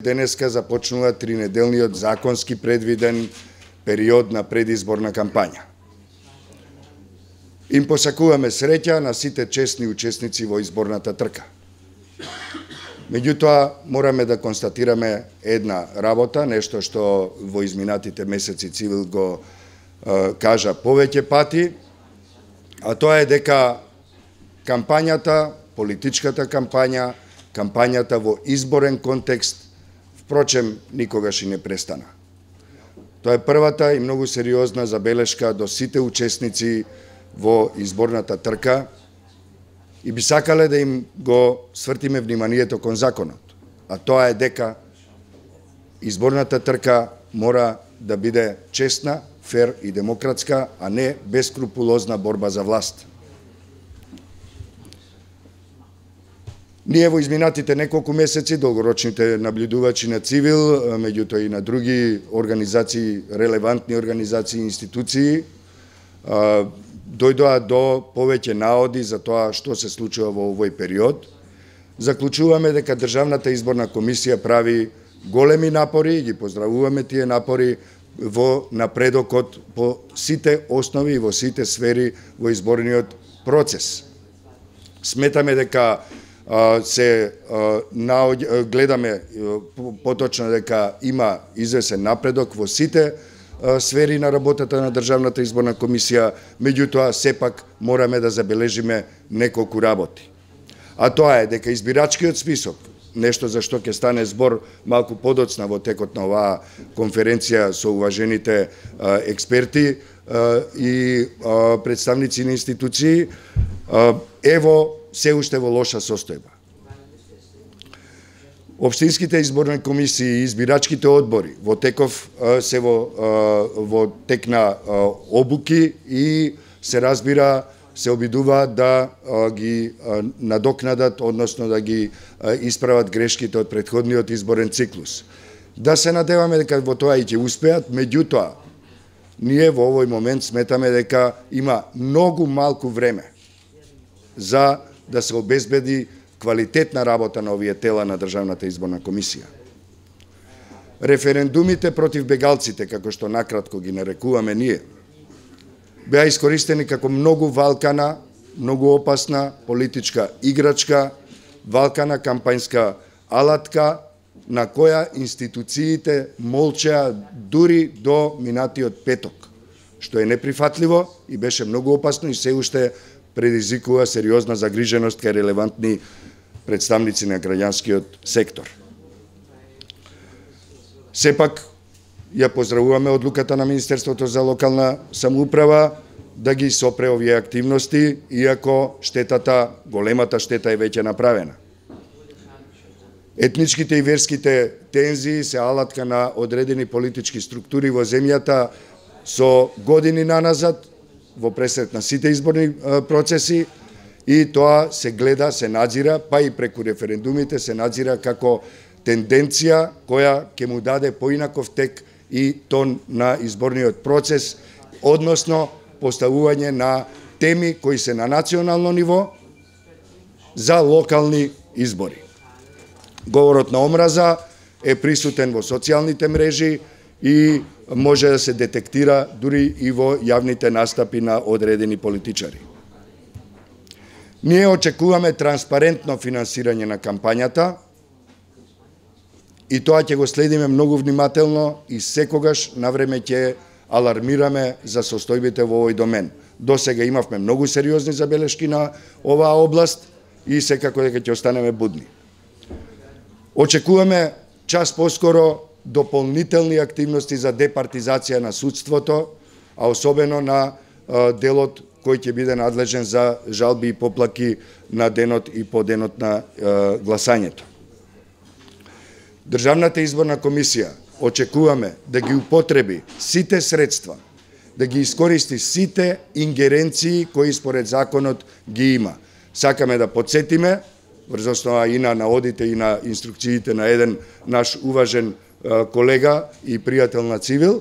Денеска започнува 3-неделниот законски предвиден период на предизборна кампања. Им посакуваме среќа на сите честни учесници во изборната трка. Меѓутоа, мораме да констатираме една работа, нешто што во изминатите месеци Цивил го кажа повеќе пати, а тоа е дека кампањата, политичката кампања, кампањата во изборен контекст, впрочем, никогаш и не престана. Тоа е првата и многу сериозна забелешка до сите учесници во изборната трка и би сакале да им го свртиме вниманието кон законот, а тоа е дека изборната трка мора да биде честна, фер и демократска, а не бескрупулозна борба за власт. Ние во изминатите неколку месеци, долгорочните наблюдувачи на Цивил, меѓутоа и на други организации, релевантни организации и институции, дојдоа до повеќе наоди за тоа што се случува во овој период. Заклучуваме дека Државната изборна комисија прави големи напори и ги поздравуваме тие напори во напредокот по сите основи и во сите сфери во изборниот процес. Сметаме дека гледаме поточно дека има извесен напредок во сите сфери на работата на Државната изборна комисија, меѓутоа сепак мораме да забележиме неколку работи. А тоа е дека избирачкиот список, нешто за што ќе стане збор малку подоцна во текот на оваа конференција со уважените експерти и представници на институции, се уште во лоша состојба. Општинските изборни комисии и избирачките одбори во теков се во тек на обуки и се разбира се обидуваат да ги надокнадат, односно да ги исправат грешките од претходниот изборен циклус. Да се надеваме дека во тоа и ќе успеат, меѓутоа ние во овој момент сметаме дека има многу малку време за да се обезбеди квалитетна работа на овие тела на Државната изборна комисија. Референдумите против бегалците, како што накратко ги нарекуваме ние, беа искористени како многу валкана, многу опасна политичка играчка, валкана кампањска алатка, на која институциите молчеа дури до минатиот петок, што е неприфатливо и беше многу опасно и се уште предизвикува сериозна загриженост кај релевантни представници на граѓанскиот сектор. Сепак, ја поздравуваме одлуката на Министерството за локална самоуправа да ги сопре овие активности, иако големата штета е веќе направена. Етничките и верските тензии се алатка на одредени политички структури во земјата со години наназад, во пресрет на сите изборни процеси, и тоа се гледа, се надзира, па и преку референдумите се надзира како тенденција која ќе му даде поинаков тек и тон на изборниот процес, односно поставување на теми кои се на национално ниво за локални избори. Говорот на омраза е присутен во социјалните мрежи и може да се детектира дури и во јавните настапи на одредени политичари. Ние очекуваме транспарентно финансирање на кампањата и тоа ќе го следиме многу внимателно и секогаш навреме ќе алармираме за состојбите во овој домен. До сега имавме многу сериозни забелешки на оваа област и секако дека ќе останеме будни. Очекуваме час поскоро дополнителни активности за департизација на судството, а особено на делот кој ќе биде надлежен за жалби и поплаки на денот и по денот на гласањето. Државната изборна комисија очекуваме да ги употреби сите средства, да ги искористи сите ингеренции кои според законот ги има. Сакаме да подсетиме, врз основа и на наодите и на инструкциите на еден наш уважен колега и пријател на Цивил,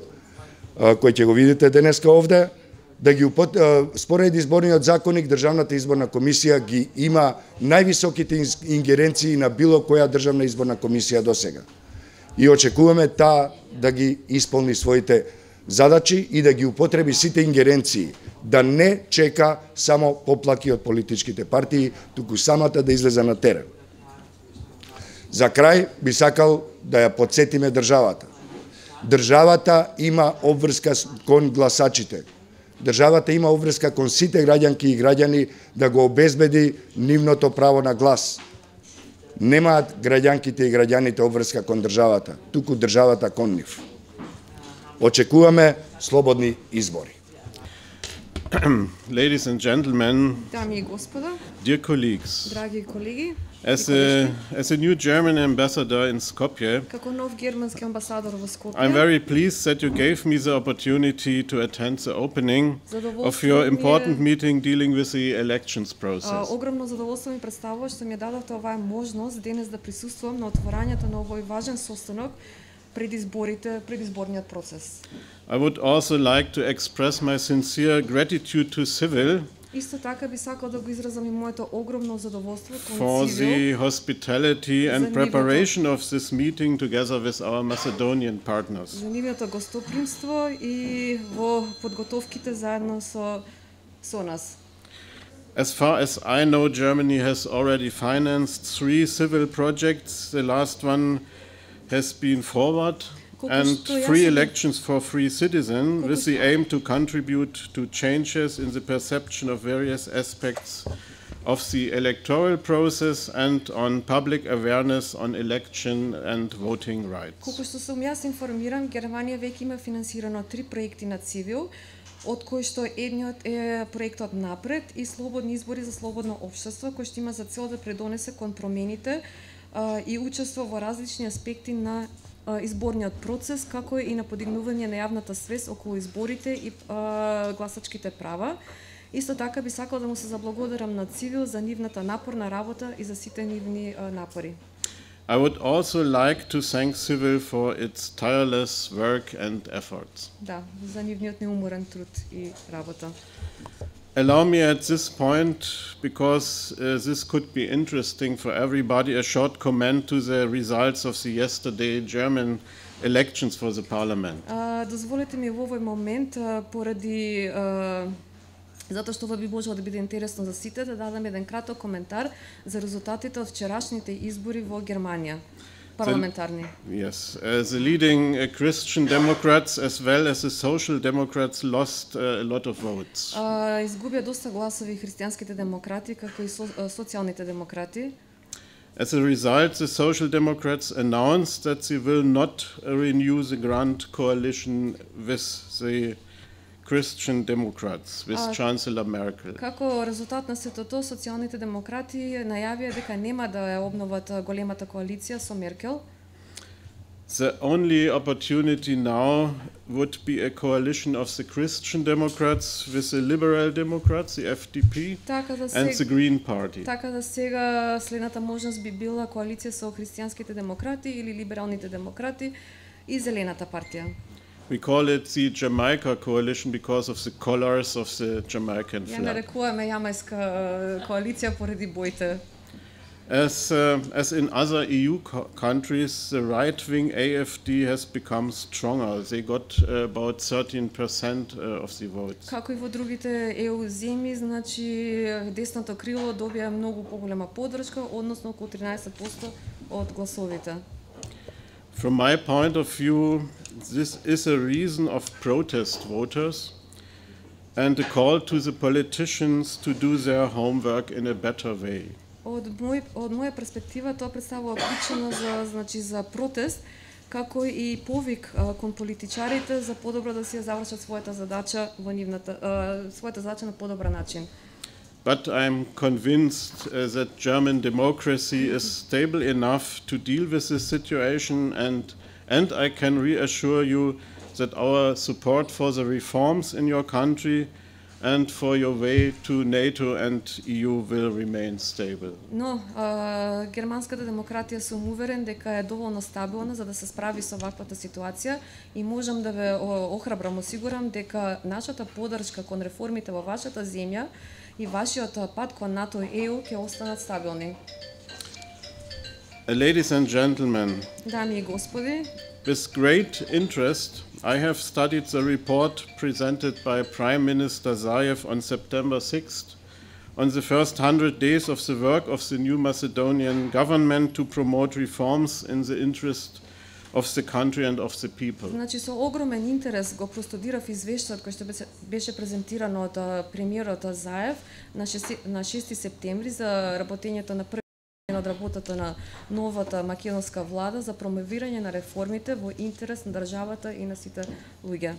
кој ќе го видите денеска овде, да ги според изборниот законник Државната изборна комисија ги има највисоките ингеренции на било која државна изборна комисија досега. и очекуваме таа да ги исполни своите задачи и да ги употреби сите ингеренции, да не чека само поплаки од политичките партии, туку самата да излезе на терен. За крај би сакал да ја потсетиме државата. Државата има обврска кон гласачите. Државата има обврска кон сите граѓанки и граѓани да го обезбеди нивното право на глас. Немаат граѓанките и граѓаните обврска кон државата, туку државата кон нив. Очекуваме слободни избори. Ladies and gentlemen, Дами и господа, dear colleagues, драги колеги, as a new German ambassador in Skopje, како нов германски амбасадор во Скопје, I'm very pleased that you gave me the opportunity to attend the opening of your important meeting dealing with the elections process. огромно задоволство ми представува што ми дадовте оваа можност денес да присуствувам на отворањето на овој важен состанок пред изборите, пред изборниот процес. I would also like to express my sincere gratitude to Civil Исто така би сакал да го изразам и моето огромно задоволство for кон Цивил the hospitality and За preparation of this meeting together with our Macedonian partners. за нивното гостопримство и во подготовките заедно со нас. As far as I know, Germany has already financed 3 civil projects. The last one has been forward, and free elections for free citizens with the aim to contribute to changes in the perception of various aspects of the electoral process and on public awareness on election and voting rights. Колку што сум јас информиран, Германија веќе има финансирано 3 проекти на Цивил, од кои што едниот е проектот Напред и слободни избори за слободно општество, кој што има за цел да предонесе кон промените и учество во различни аспекти на изборниот процес, како и на подигнување на јавната свест околу изборите и гласачките права. Исто така би сакал да му се заблагодарам на Цивил за нивната напорна работа и за сите нивни напори. I would also like to thank Civil for its tireless work and efforts. Да, за нивниот неуморен труд и работа. Allow me at this point, because this could be interesting for everybody, a short comment to the results of the yesterday German elections for the parliament. Дозволете ми во овој момент, поради затоа што ова би можело да биде интересно за сите, да дадам еден краток коментар за резултатите од вчерашните избори во Германија. Парламентарни. Yes, the leading Christian Democrats as well as the Social Democrats lost a lot of votes. Изгубија доста гласови христијанските демократи, како и социјалните демократи. As a result, the Social Democrats announced that they will not renew the grand coalition with the Christian Democrats, with Chancellor Merkel. Како резултат на сето тоа, социјалните демократи најавија дека нема да ја обноват големата коалиција со Меркел. The only opportunity now would be a coalition of the Christian Democrats with the Liberal Democrats, the FDP, and the Green Party. Така да сега следната можност би била коалиција со христијанските демократи или либералните демократи и Зелената партија. We call it the Jamaica coalition because of the colors of the Jamaican flag. Ја нарекуваме јамајска коалиција поради боите. As in other EU countries, the right-wing AfD has become stronger. They got about 13% of the votes. Како и во другите EU земји, значи десното крило добија многу поголема поддршка, односно околу 13% од гласовите. From my point of view, this is a reason of protest voters and a call to the politicians to do their homework in a better way. Од моја перспектива тоа представува причина за протест, како и повик кон политичарите за подобро да си ја завршат својата задача на подобар начин. But I'm convinced that German democracy is stable enough to deal with this situation, and I can reassure you that our support for the reforms in your country and for your way to NATO and EU will remain stable. Но германската демократија сум уверен дека е доволно стабилна за да се справи со ваквата ситуација и можам да ве охрабрам, осигурам дека нашата поддршка кон реформите во вашата земја и вашиот пат кон НАТО и ЕУ ќе останат стабилни. Ladies and gentlemen, Дами и господи, with great interest, I have studied the report presented by Prime Minister Zaev on September 6th on the first 100 days of the work of the new Macedonian government to promote reforms in the interest of the country and of the people. Значи со огромен интерес го простудирав извештајот кој што беше презентирано од премиерот Заев на 6 септември за работењето на од работата на новата македонска влада за промовирање на реформите во интерес на државата и на сите луѓе.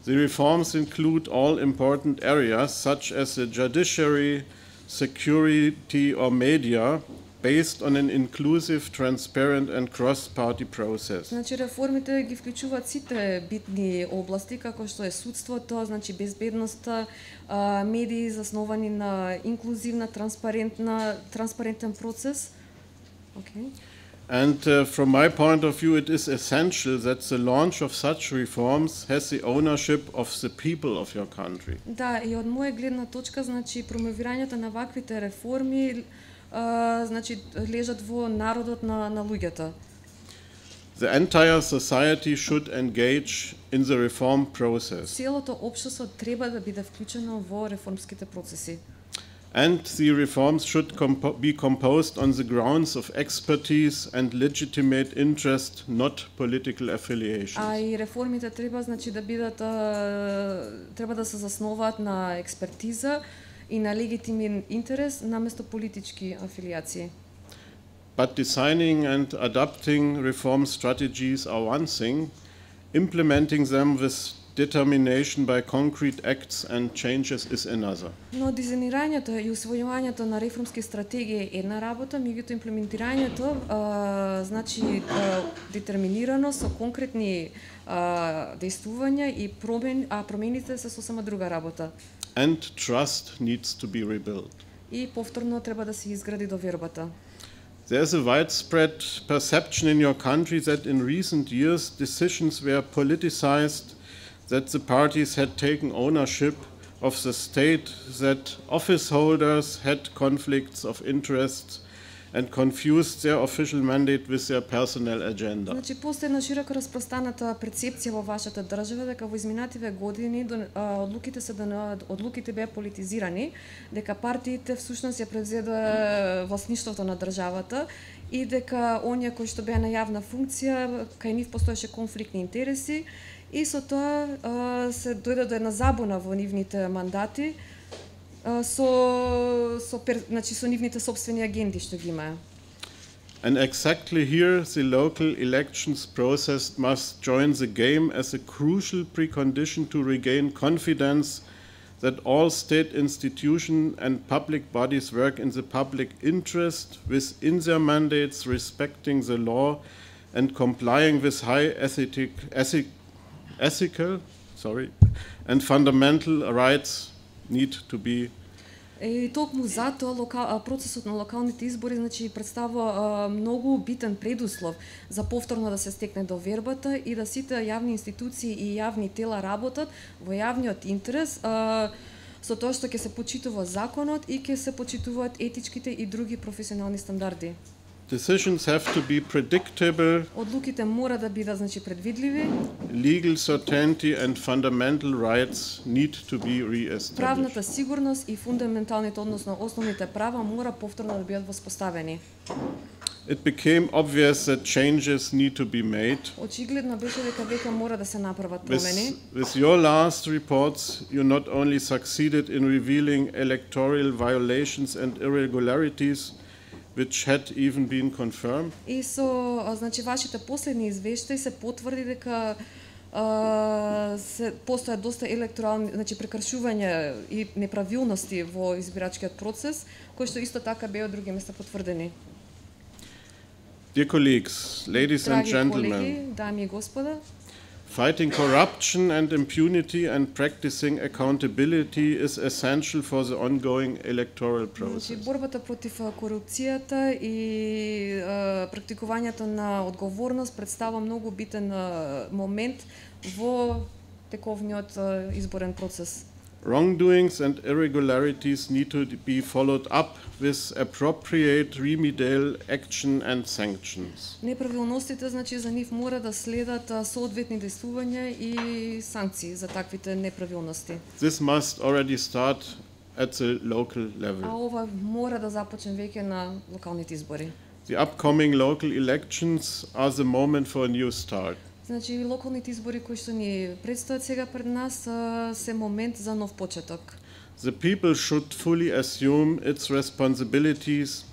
The reforms include all important areas such as the judiciary, security or media based on an inclusive, transparent and cross-party process. Значи реформите ги вклучуваат сите битни области како што е судството, значи безбедноста, медии засновани на инклузивна, транспарентен процес. Okay. And from my point of view, it is essential that the launch of such reforms has the ownership of the people of your country. Да, и од моја гледна точка, значи промовирањето на ваквите реформи значи лежат во народот на луѓето. The entire society should engage in the reform process. Целото општество треба да биде вклучено во реформските процеси. And the reforms should be composed on the grounds of expertise and legitimate interest, not political affiliations. А и реформите треба значи да бидат треба да се засноваат на експертиза и на легитимен интерес наместо политички афилиации. But designing and adapting reform strategies are one thing, implementing them with determination by concrete acts and changes is another. Но дизаинирањето и усвојувањето на реформски стратегии е една работа, меѓутоа имплементирањето значи детерминирано со конкретни действувања и промените се сосема друга работа. And trust needs to be rebuilt. И повторно треба да се изгради довербата. There is a widespread perception in your country that in recent years decisions were politicized, that the parties had taken ownership of the state, that office holders had conflicts of interest and confused their official mandate with their personal agenda. Значи постои една широко распространата перцепција во вашата држава дека во изминативе години одлуките беа политизирани, дека партиите всушност ја превзеда власништвото на државата и дека оние кои што беа на јавна функција, кај нив постоеше конфликтни интереси и со тоа се дојде до една забуна во нивните мандати со нивните собствени агенди што ги имаа. And exactly here the local elections process must join the game as a crucial precondition to regain confidence that all state institutions and public bodies work in the public interest within their mandates, respecting the law and complying with high ethical and fundamental rights need to be. И токму затоа процесот на локалните избори значи представува многу битен предуслов за повторно да се стекне довербата и да сите јавни институции и јавни тела работат во јавниот интерес со тоа што ќе се почитува законот и ќе се почитуваат етичките и други професионални стандарди. Decisions have to be predictable. Одлуките мора да бидат значи предвидливи. Legal certainty and fundamental rights need to be reestablished. Правната сигурност и фундаменталните, односно основните права мора повторно да бидат воспоставени. It became obvious that changes need to be made. Очигледно беше дека веќе мора да се направат промени. With your last reports, you not only succeeded in revealing electoral violations and irregularities, which had even been confirmed. И со значи вашите последни извештаи се потврди дека се постојат доста електорални, значи прекршувања и неправилности во избирачкиот процес, кои што исто така беа од други места потврдени. Dear colleagues, ladies and gentlemen, колеги, дами и господа, fighting corruption and impunity and practicing accountability is essential for the ongoing electoral process. Борбата против корупцијата и практикувањето на одговорност представува многу битен момент во тековниот изборен процес. Wrongdoings and irregularities need to be followed up with appropriate remedial action and sanctions. Неправилностите, значи, за нив мора да следат соодветни действувања и санкции за таквите неправилности. This must already start at the local level. А ова мора да започне веќе на локалните избори. The upcoming local elections are the moment for a new start. Значи, локалните избори кои што ни предстојат сега пред нас се момент за нов почеток. The people should fully assume its responsibilities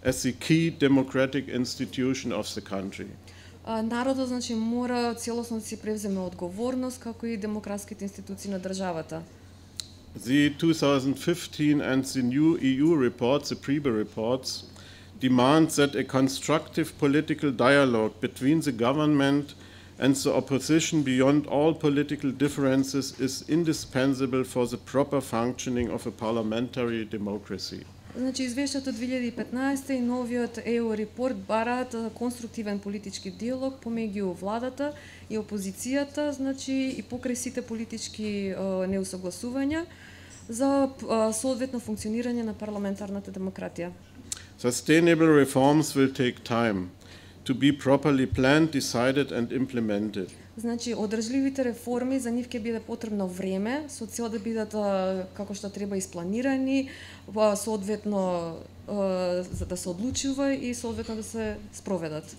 as the key democratic institution of the country. Народот, значи, мора целосно да си превземе одговорност како и демократските институции на државата. The 2015 and the new EU reports, the PRIBA reports, demand that a constructive political dialogue between the government and the opposition beyond all political differences is indispensable for the proper functioning of a parliamentary democracy. Значи, извештајето 2015 и новиот EU репорт бараат конструктивен политички диалог помеѓу владата и опозицијата, значи и покрај сите политички неусогласувања за соодветно функционирање на парламентарната демократија. Sustainable reforms will take time to be properly planned, decided and implemented. Значи, одржливите реформи за нив ќе биде потребно време со цел да бидат како што треба испланирани, соодветно за да се одлучува и соодветно да се спроведат.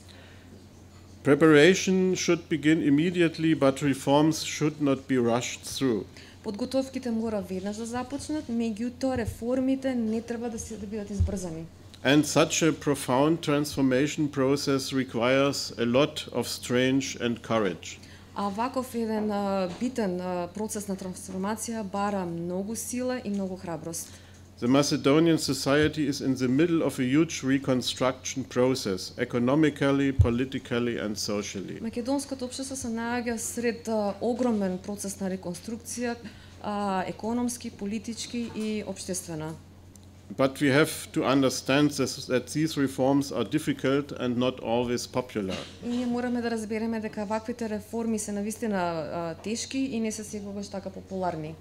Preparation should begin immediately, but reforms should not be rushed through. Подготовките мора веднаш да започнат, меѓутоа реформите не треба да бидат избрзани. And such a profound transformation process requires a lot of strength and courage. А ваков еден битен процес на трансформација бара многу сила и многу храброст. The Macedonian society is in the middle of a huge reconstruction process, economically, politically and socially. Македонското општество се наоѓа сред огромен процес на реконструкција, економски, политички и општествена. But we have to understand that these reforms are difficult and not always popular. И ние мораме да разбереме дека ваквите реформи се навистина тешки и не се секогаш така популарни.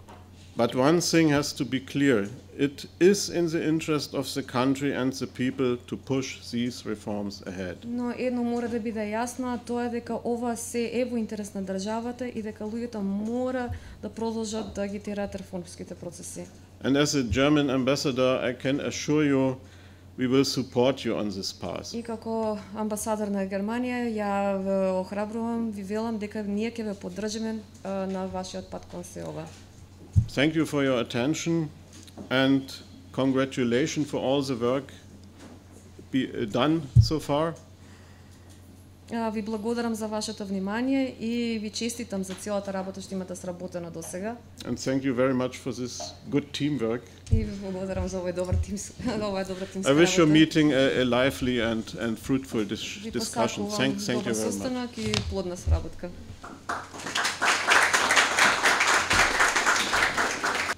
But one thing has to be clear. It is in the interest of the country and the people to push these reforms ahead. Но едно мора да биде јасно, а тоа е дека ова се е во интерес на државата и дека луѓето мора да продолжат да ги тераат реформските процеси. And as a German ambassador, I can assure you we will support you on this path. И како амбасадор на Германија, ја ве охрабрувам, ви велам дека ние ќе ве поддржиме на вашиот пат кон се ова. Thank you for your attention and congratulations for all the work done so far. Ви благодарам за вашето внимание и ви честитам за целата работа што имате сработена до сега. And thank you very much for this good teamwork. И ви благодарам за овој добар тим, оваа добра тимска I wish your работа. meeting a lively and fruitful discussion. Thank you very much. Состанок и плодна сработка.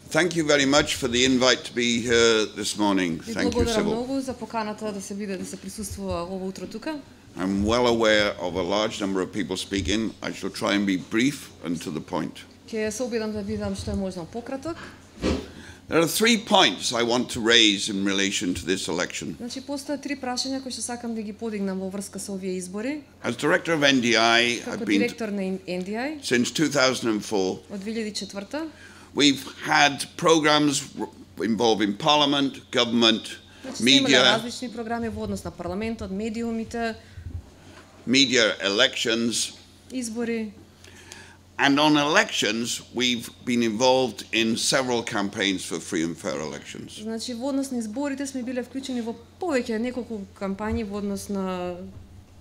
Thank you very much for the invite to be here this morning. Ви Thank you, благодарам Sybil. многу за поканата да се присуствува ово утро тука. I'm well aware of a large number of people speaking. I shall try and be brief and to the point. Ќе се обидам да бидам што е можно пократок. There are 3 points I want to raise in relation to this election. Значи постојат 3 прашања кои што сакам да ги подигнам во врска со овие избори. As director of NDI, Како I've been директор на NDI since 2004. од 2004. We've had programs involving parliament, government, Имаме media, различни програми во однос на парламентот, медиумите, media elections. избори. And on elections, we've been involved in several campaigns for free and fair elections. Значи во однос на изборите сме биле вклучени во повеќе неколку кампањи во однос на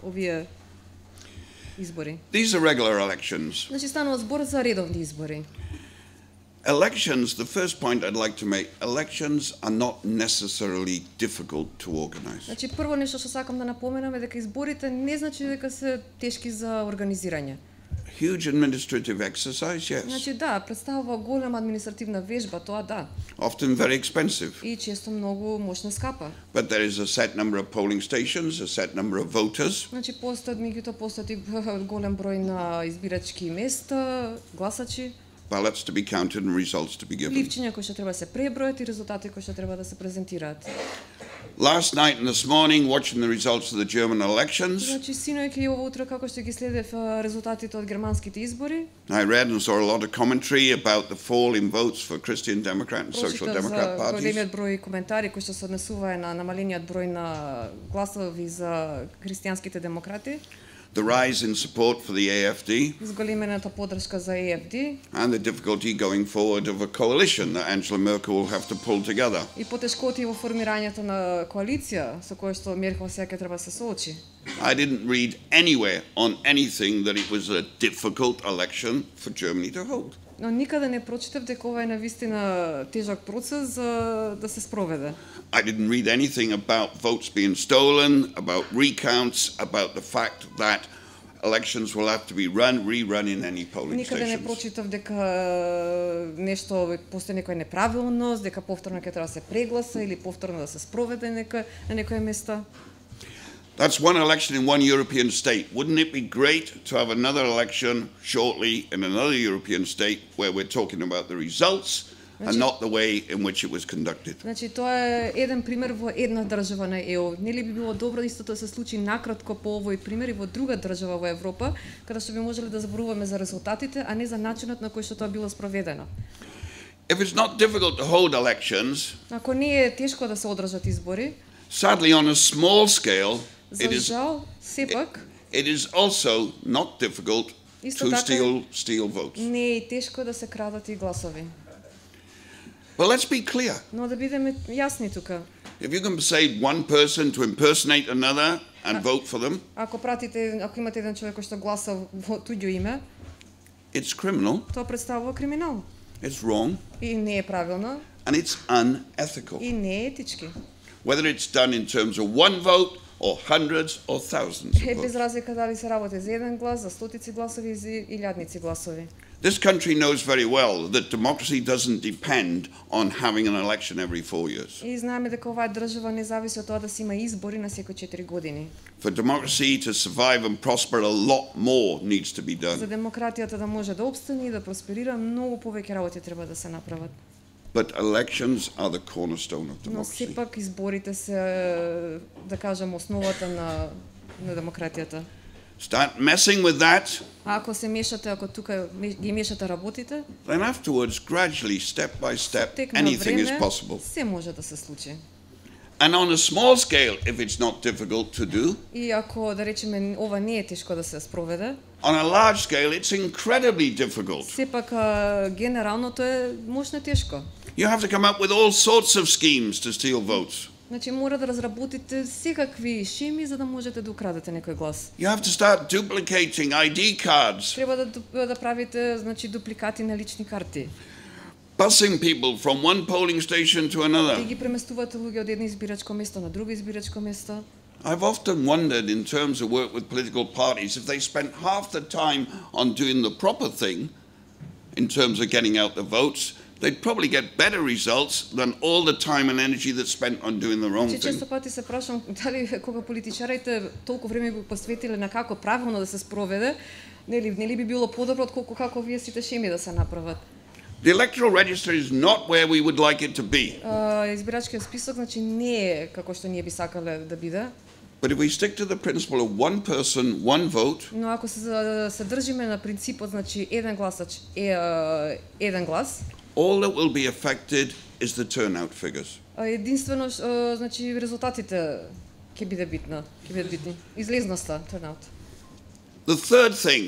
овие избори. These are regular elections. Значи станува збор за редовни избори. Elections, the first point I'd like to make, elections are not necessarily difficult to organize. Значи прво нешто што сакам да напоменам е дека изборите не значи дека се тешки за организирање. Huge administrative exercise, yes. Значи да, представува голема административна вежба, тоа да. Often very expensive. И често многу мощно скапа. But there is a set number of polling stations, a set number of voters. Значи постојат и голем број на избирачки места, гласачи. ballots to be counted and results to be given. Ливчиња кои што треба да се пребројат и резултати кои што треба да се презентираат. Last night and this morning, watching the results of the German elections, Значи синоќ и ово утро како што ги следев резултатите од германските избори, I read and saw a lot of commentary about the fall in votes for Christian Democrat and Social Democrat parties. Големиот број коментари кои што се однесува на намалениот број на гласови за христијанските демократи, the rise in support for the AFD, зголемената поддршка за EFD and the difficulty going forward of a coalition that Angela Merkel will have to pull together. и потешкоти во формирањето на коалиција со која што Меркел сега ќе треба да се соочи. I didn't read anywhere on anything that it was a difficult election for Germany to hold. Но никаде не прочитав дека ова е навистина тежок процес за да се спроведе. I didn't read anything about votes being stolen, about recounts, about the fact that elections will have to be rerun in any polling Никаде не stations. прочитав дека нешто постои некоја неправилност, дека повторно ќе треба да се прегласа или повторно да се спроведе на некоја места. That's one election in one European state. Wouldn't it be great to have another election shortly in another European state where we're talking about the results and not the way in which it was conducted? Значи тоа е еден пример во една држава на ЕУ. Нели би било добро истото да се случи накратко по овој пример и во друга држава во Европа, каде што би можеле да зборуваме за резултатите, а не за начинот на кој што тоа било спроведено. If it's not difficult to hold elections, Ако не е тешко да се одржат избори, sadly on a small scale, за жал, сепак, it is also not difficult Исто to така steal votes. не е и тешко да се крадат и гласови. But let's be clear. Но да бидеме јасни тука. If you can say one person to impersonate another and vote for them, Ако имате еден човек кој што гласа во туѓо име, it's criminal, тоа представува криминал. it's wrong, И не е правилно, and it's unethical. и не е етички. Whether it's done in terms of one vote or hundreds or thousands Е of без votes. разлика дали се работи за еден глас, за стотици гласови или за илјадници гласови. This country knows very well that democracy doesn't depend on having an election every 4 years. И знаеме дека оваа држава не зависи од тоа да се има избори на секои 4 години. For democracy to survive and prosper, a lot more needs to be За done. демократијата да може да опстане и да просперира, многу повеќе работи треба да се направат. But elections are the cornerstone of Но democracy. сепак изборите се, да кажем, основата на демократијата. Start messing with that, А ако се мешате, ако тука ги мешате работите, then afterwards, gradually, step by step, тек на anything is време possible. се може да се случи. And on a small scale, if it's not difficult to do, И ако, да речеме, ова не е тешко да се спроведе, on a large scale, it's incredibly difficult. сепак генералното е мощно тешко. You have to come up with all sorts of schemes to steal votes. Значи мора да разработите секакви шеми за да можете да украдете некој глас. You have to start duplicating ID cards, Треба да правите, значи, дупликати на лични карти. busing people from one polling station to И another. ги преместувате луѓе од едно избирачко место на друго избирачко место. I've often wondered, in terms of work with political parties, if they spent half the time on doing the proper thing, in terms of getting out the votes, they'd probably get better results than all the time and energy that's spent on doing the wrong Че thing. често пати се прашам дали кога политичарите толку време го посветиле на како правилно да се спроведе, нели би било подобро отколку како вие сите шеми да се направат. The electoral register is not where we would like it to be. Избирачкиот список значи не е како што ние би сакале да биде. But if we stick to the principle of one person, one vote, Но ако се држиме на принципот значи еден гласач еден глас, all that will be affected is the turnout figures. единствено значи резултатите ќе бидат битни. Излезноста, turnout. The third thing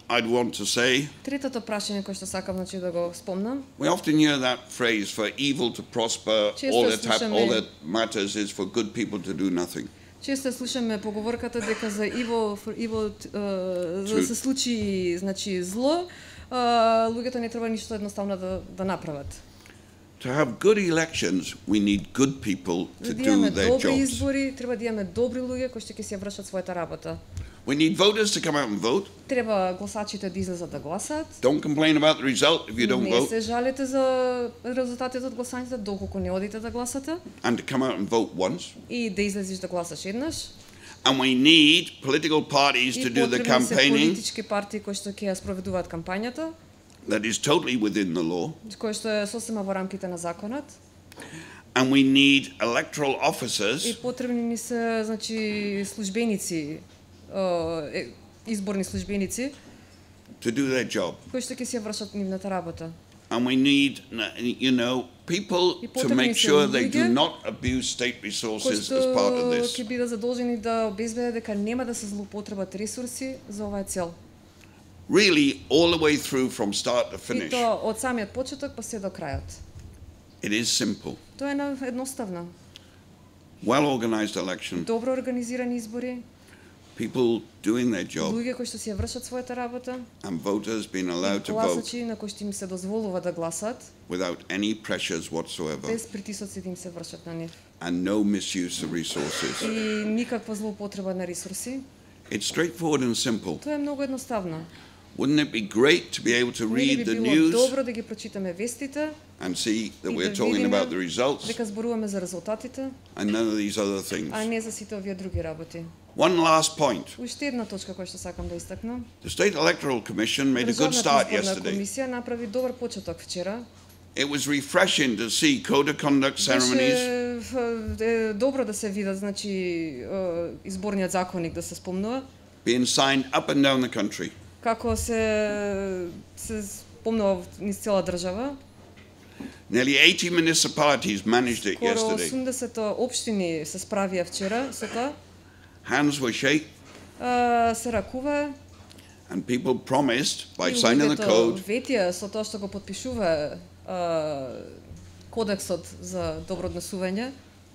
I'd want to say, Третото прашање кое што сакам значи да го спомнам, we often hear that phrase, for evil to prosper, all that matters is for good people to do nothing. често слушаме поговорката дека за за да се случи значи зло, луѓето не треба ништо едноставно да направат. To have good elections, we need good people to За да do имаме their добри jobs. избори, треба да имаме добри луѓе кои што ќе си ја вршат својата работа. We need voters to come out and vote. Треба гласачите да излезат да гласат. Don't complain about the result if you don't Не vote. се жалете за резултатите од гласањето доколку не одите да гласате And to come out and vote once. и да излезеш да гласаш еднаш. And we need political parties to И do the потребни се campaigning. политички партии кои што ќе ја спроведуваат кампањата. that is totally within the law. Кој што е сосема во рамките на законот. And we need electoral officers. И потребни ни се, значи, службеници, изборни службеници, to do their job. Кои што ќе си ја вршат нивната работа. And we need, people to make sure they do not abuse state resources as part of this. Ќе бидат задолжени да обезбедат дека нема да се злоупотребат ресурси за оваа цел. Really, all the way through from start to finish. И тоа од самиот почеток па се до крајот. It is simple. Тоа е едноставно. Well-organized election. Добро организирани избори. People doing their job. Луѓе кои што си ја вршат својата работа. And voters being allowed to vote. Гласачи на кои што им се дозволува да гласат. Without any pressures whatsoever. Без притисоци да им се вршат на нив. And no misuse of resources. И никаква злоупотреба на ресурси. It's straightforward and simple. Тоа е многу едноставно. Wouldn't it be great to be able to read the news? Добро да ги прочитаме вестите. And see that we're talking about the results. Дека зборуваме за резултатите. And none of these other things. А не за сите овие други работи. One last point. Уште една точка која што сакам да истакнам. The State Electoral Commission made a good start yesterday. Комисија направи добар почеток вчера. It was refreshing to see code of conduct ceremonies. Добро да се видат, значи, изборниот законник да се спомнува. Being signed up and down the country. Како се спомнува низ цела држава. Nearly 80 municipalities managed it yesterday. Скоро 80 општини се справија вчера со тоа. Hands were shake. Се ракува. And people promised by signing the code. Ветија со тоа што го потпишува кодексот за добро однесување.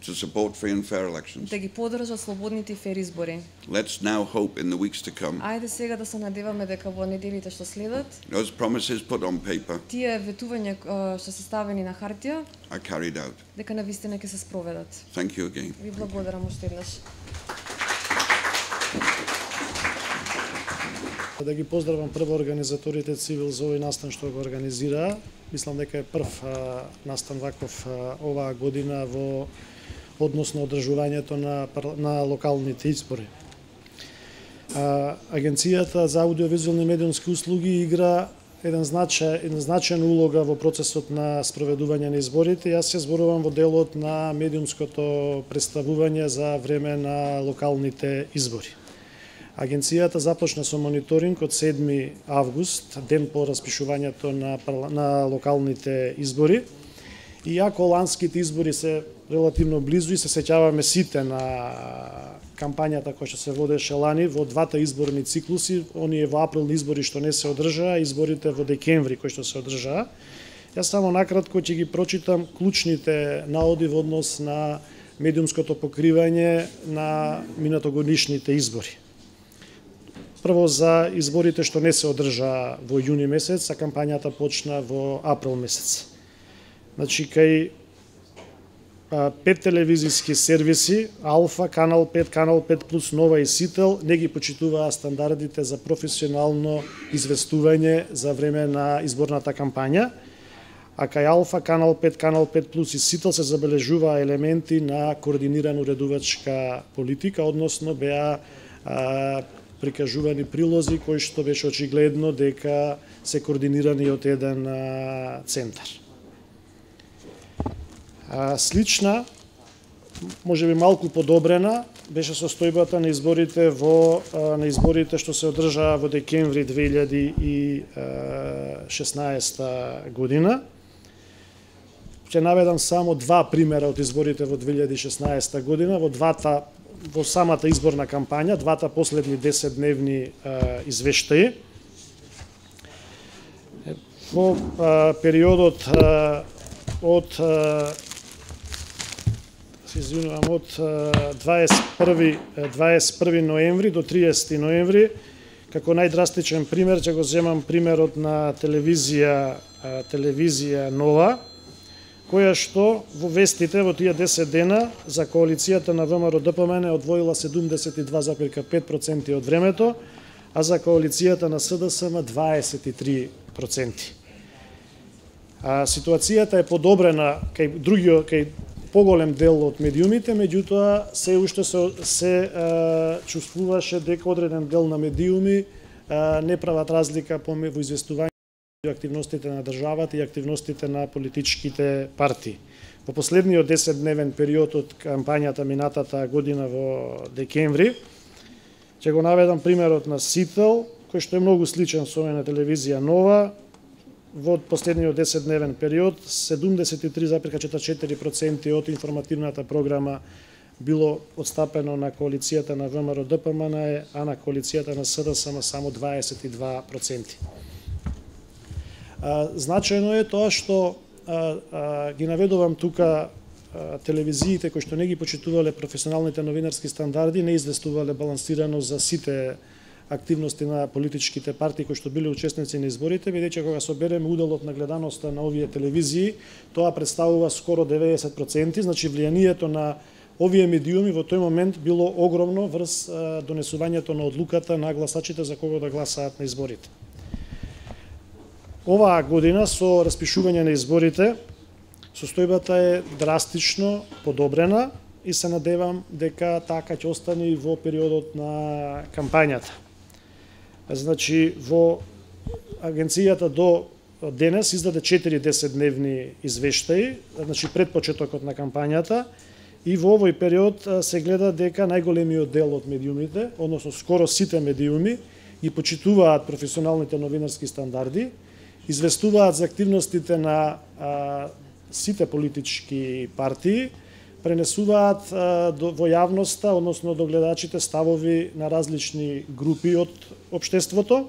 To support free and fair elections. Да ги поддржат слободните и фер избори. Let's now hope in the weeks to come. Ајде сега да се надеваме дека во неделите што следат, those promises put on paper, тие ветувања што се ставени на хартија, are carried out. Дека навистина ќе се спроведат. Thank you again. Ви благодарам уште еднаш. Да ги поздравам прво организаторите Цивил за овој настан што го организираа. Мислам дека е прв настан ваков оваа година во односно одржувањето на локалните избори. Агенцијата за аудиовизуелни медиумски услуги игра една значајна улога во процесот на спроведување на изборите. Јас се зборувам во делот на медиумското представување за време на локалните избори. Агенцијата започна со мониторинг од 7 август, ден по распишувањето на локалните избори. Иако ланските избори се релативно близу и се сеќаваме сите на кампањата која што се водеше лани во двата изборни циклуси, оние во априлни избори што не се одржаа, изборите во декември кои што се одржаа. Јас само накратко ќе ги прочитам клучните наоди во однос на медиумското покривање на минатогодишните избори. Прво за изборите што не се одржаа во јуни месец, а кампањата почна во април месец. Значи, кај 5 телевизиски сервиси, Алфа, Канал 5, Канал 5 плюс Нова и Сител, не ги почитуваа стандардите за професионално известување за време на изборната кампања, а кај Алфа, Канал 5, Канал 5 плюс и Сител се забележуваа елементи на координирана уредувачка политика, односно беа прикажувани прилози кои што беше очигледно дека се координирани од еден центар. Слична, можеби малку подобрена, беше состојбата на изборите што се одржаа во декември 2016 година. Ќе наведам само два примера од изборите во 2016 година, во самата изборна кампања, двата последни 10-дневни извештаи. Во периодот од 21 ноември до 30 ноември, како најдрастичен пример, ќе го земам примерот на телевизија Нова, која што во вестите во тие 10 дена за коалицијата на ВМРО ДПМН одвоила 72,5% од времето, а за коалицијата на СДСМ 23%. Ситуацијата е подобрена кај поголем дел од медиумите, меѓутоа се уште се чувствуваше дека одреден дел на медиуми не прават разлика во известување меѓу активностите на државата и активностите на политичките партии. Во последниот 10-дневен период од кампањата минатата година во декември, ќе го наведам примерот на Сител, кој што е многу сличен со на телевизија Нова. Во последниот 10-дневен период 73,44% од информативната програма било отстапено на коалицијата на ВМРО ДПМН, а на коалицијата на СДСМ само 22%. Значајно е тоа што ги наведувам тука телевизиите кои што не ги почитувале професионалните новинарски стандарди, не известувале балансирано за сите активности на политичките партии кои што биле учесници на изборите, бидејќи кога собереме уделот на гледаноста на овие телевизии, тоа представува скоро 90%, значи влијанието на овие медиуми во тој момент било огромно врз донесувањето на одлуката на гласачите за кого да гласаат на изборите. Оваа година со распишување на изборите, состојбата е драстично подобрена и се надевам дека така ќе остане и во периодот на кампањата. Значи, во агенцијата до денес издаде 4 10-дневни извештаи, значи пред почетокот на кампањата, и во овој период се гледа дека најголемиот дел од медиумите, односно скоро сите медиуми, ги почитуваат професионалните новинарски стандарди, известуваат за активностите на сите политички партии, пренесуваат во јавноста, односно до гледачите, ставови на различни групи од општеството,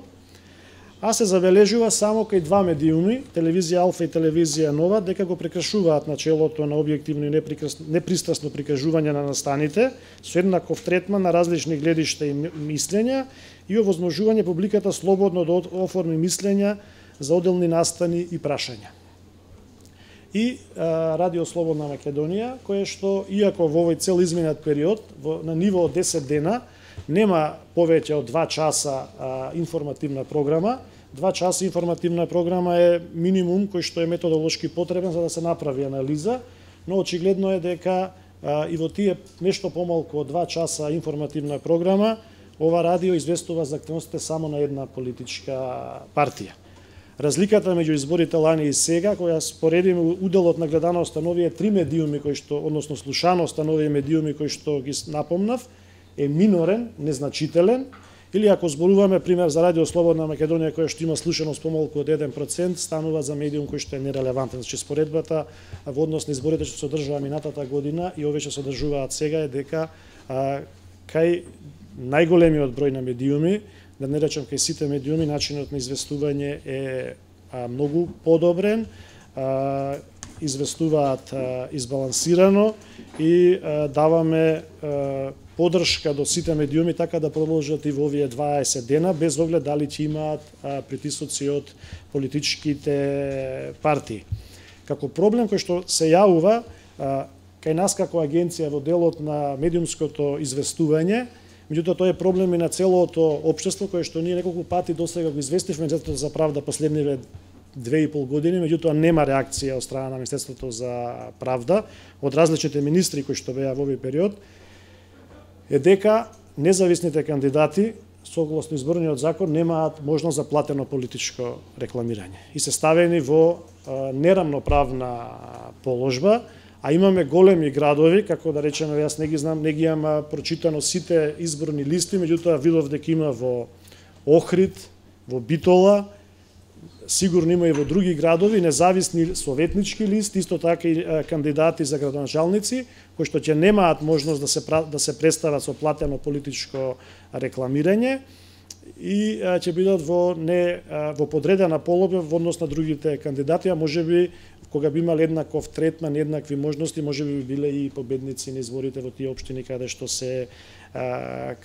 а се забележува само кај два медиуми, телевизија Алфа и телевизија Нова, дека го прекршуваат начелото на објективно и непристрасно прикажување на настаните, со еднаков третман на различни гледишта и мислења и овозможување публиката слободно да оформи мислења за одделни настани и прашања. И Радио Слободна Македонија, кое што, иако во овој цел изминат период, на ниво од 10 дена, нема повеќе од 2 часа информативна програма. 2 часа информативна програма е минимум кој што е методолошки потребен за да се направи анализа, но очигледно е дека и во тие нешто помалку од 2 часа информативна програма, ова радио известува за активностите само на една политичка партија. Разликата меѓу изборите лани и сега, која споредиме уделот на гледаноста на овие 3 медиуми кои што, односно слушаноста на овие медиуми кои што ги напомнав, е минорен, незначителен, или ако зборуваме пример за Радио Слободна Македонија која што има слушаност помалку од 1%, станува за медиум кој што е нерелевантен. Значи споредбата во однос на изборите што се одржува минатата година и овие што се одржуваат сега е дека кај најголемиот број на медиуми, да не речам кај сите медиуми, начинот на известување е многу подобрен, известуваат избалансирано и даваме поддршка до сите медиуми така да продолжат и во овие 20 дена, без оглед дали ќе имаат притисоци од политичките партии. Како проблем кој што се јавува кај нас како агенција во делот на медиумското известување, меѓутоа тоа е проблем и на целото општество кое што ние неколку пати досега го известивме Министерството за правда последниве 2,5 години, меѓутоа нема реакција од страна на Министерството за правда од различните министри кои што беа во овој период, е дека независните кандидати согласно изборниот закон немаат можност за платено политичко рекламирање и се ставени во нерамноправна положба, а имаме големи градови, како да речеме, јас не ги знам, не ги имам прочитано сите изборни листи, меѓутоа видов дека има во Охрид, во Битола, сигурно има и во други градови, независни советнички листи, исто така и кандидати за градоначалници, кои што ќе немаат можност да се представат со платено политичко рекламирање и ќе бидат во подредена полога во однос на другите кандидати, а можеби кога би имале еднаков третман, еднакви можности, можеби би биле и победници на изборите во тие општини каде што се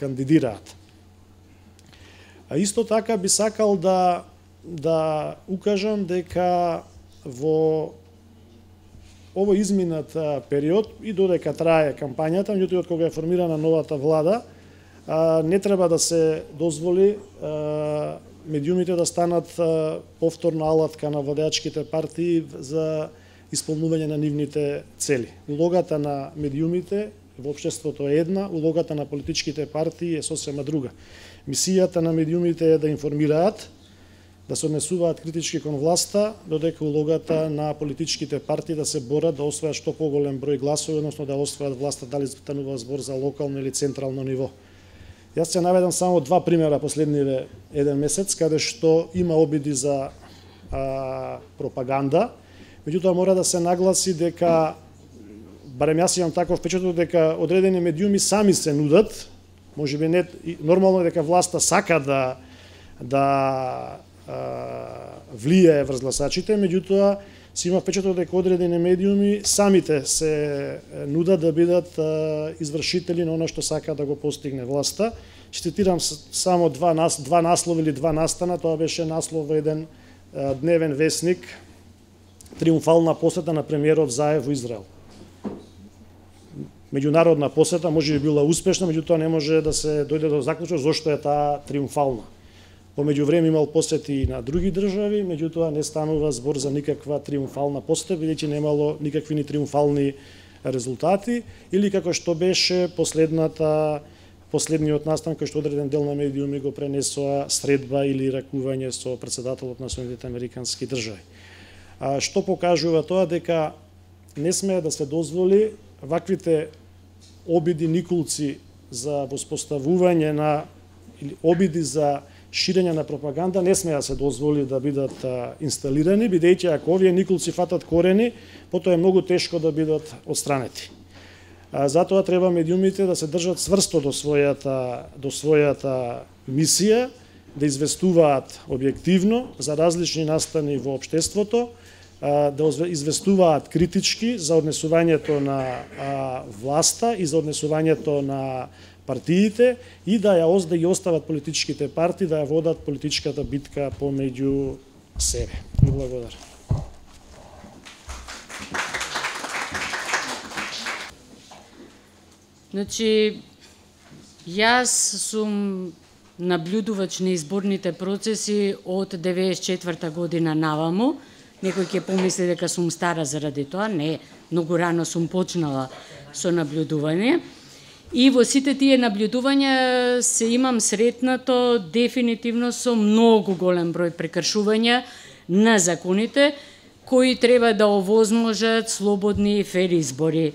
кандидираат. А исто така би сакал да укажам дека во овој изминат период и додека трае кампањата, меѓутоа од кога е формирана новата влада, не треба да се дозволи медиумите да станат повторна алатка на владеачките партии за исполнување на нивните цели. Улогата на медиумите во општеството е една, улогата на политичките партии е сосема друга. Мисијата на медиумите е да информираат да се однесуваат критички кон власта, додека улогата на политичките партии да се борат да освојат што поголем број гласови, односно да освојат власта, дали станува збор за локално или централно ниво. Јас ќе наведам само два примера последниве еден месец, каде што има обиди за пропаганда, меѓутоа мора да се нагласи дека, барем јас имам таков впечаток, дека одредени медиуми сами се нудат, можеби не нормално дека власта сака да влијае врз гласачите, меѓутоа си има впечаток дека одредени медиуми самите се нудат да бидат извршители на оно што сака да го постигне власта. Ќе цитирам само два наслови или два настана. Тоа беше наслов во еден дневен весник, триумфална посета на премиерот Заев во Израел. Меѓународна посета може би била успешна, меѓутоа не може да се дојде до заклучок зошто е таа триумфална. По меѓувреме имал посети и на други држави, меѓутоа не станува збор за никаква триумфална посета, бидејќи немало никакви ни триумфални резултати, или како што беше последниот настан кој што одреден дел на медиуми го пренесоа средба или ракување со претседателот на Соединетите Американски држави. Што покажува тоа? Дека не смее да се дозволи ваквите обиди никулци за воспоставување на или обиди за ширење на пропаганда не смее да се дозволи да бидат инсталирани, бидејќи ако овие никулци фатат корени, потоа е многу тешко да бидат отстранети. Затоа треба медиумите да се држат цврсто до својата мисија, да известуваат објективно за различни настани во општеството, да известуваат критички за однесувањето на власта и за однесувањето на партиите и да ги остават политичките партии да ја водат политичката битка помеѓу себе. Ви благодарам. Значи, јас сум наблюдувач на изборните процеси од 94-та година наваму. Некој ќе помисли дека сум стара заради тоа. Не, многу рано сум почнала со наблюдување. И во сите тие наблюдувања се имам сретнато дефинитивно со многу голем број прекршувања на законите кои треба да овозможат слободни и фер избори.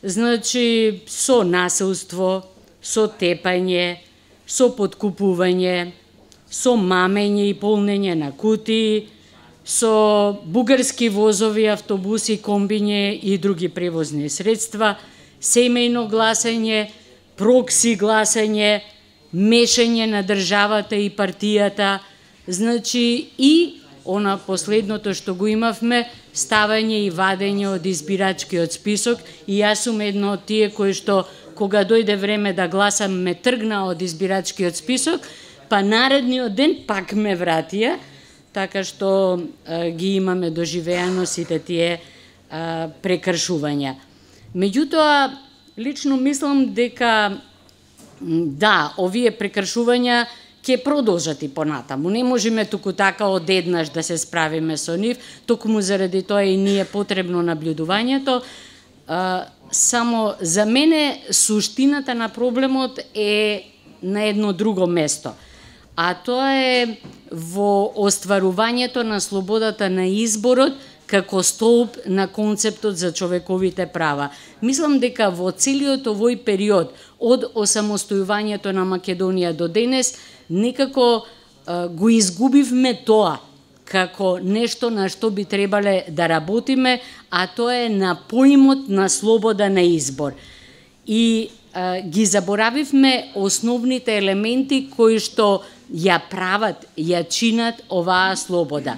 Значи, со насилство, со тепање, со подкупување, со мамење и полнење на кутии, со бугарски возови, автобуси, комбиње и други превозни средства, семејно гласање, прокси гласање, мешање на државата и партијата, значи и она последното што го имавме, ставање и вадење од избирачкиот список, и јас сум едно од тие кои што кога дојде време да гласам ме тргна од избирачкиот список, па наредниот ден пак ме вратија, така што ги имаме доживеано сите тие прекршувања. Меѓутоа, лично мислам дека да, овие прекршувања ќе продолжат и понатаму. Не можеме туку така одеднаш да се справиме со нив, токму заради тоа и ни е потребно наблюдувањето. Само за мене суштината на проблемот е на едно друго место, а тоа е во остварувањето на слободата на изборот како столб на концептот за човековите права. Мислам дека во целиот овој период од осамостојувањето на Македонија до денес некако го изгубивме тоа како нешто на што би требале да работиме, а тоа е на поимот на слобода на избор. И ги заборавивме основните елементи кои што ја прават, ја чинат оваа слобода.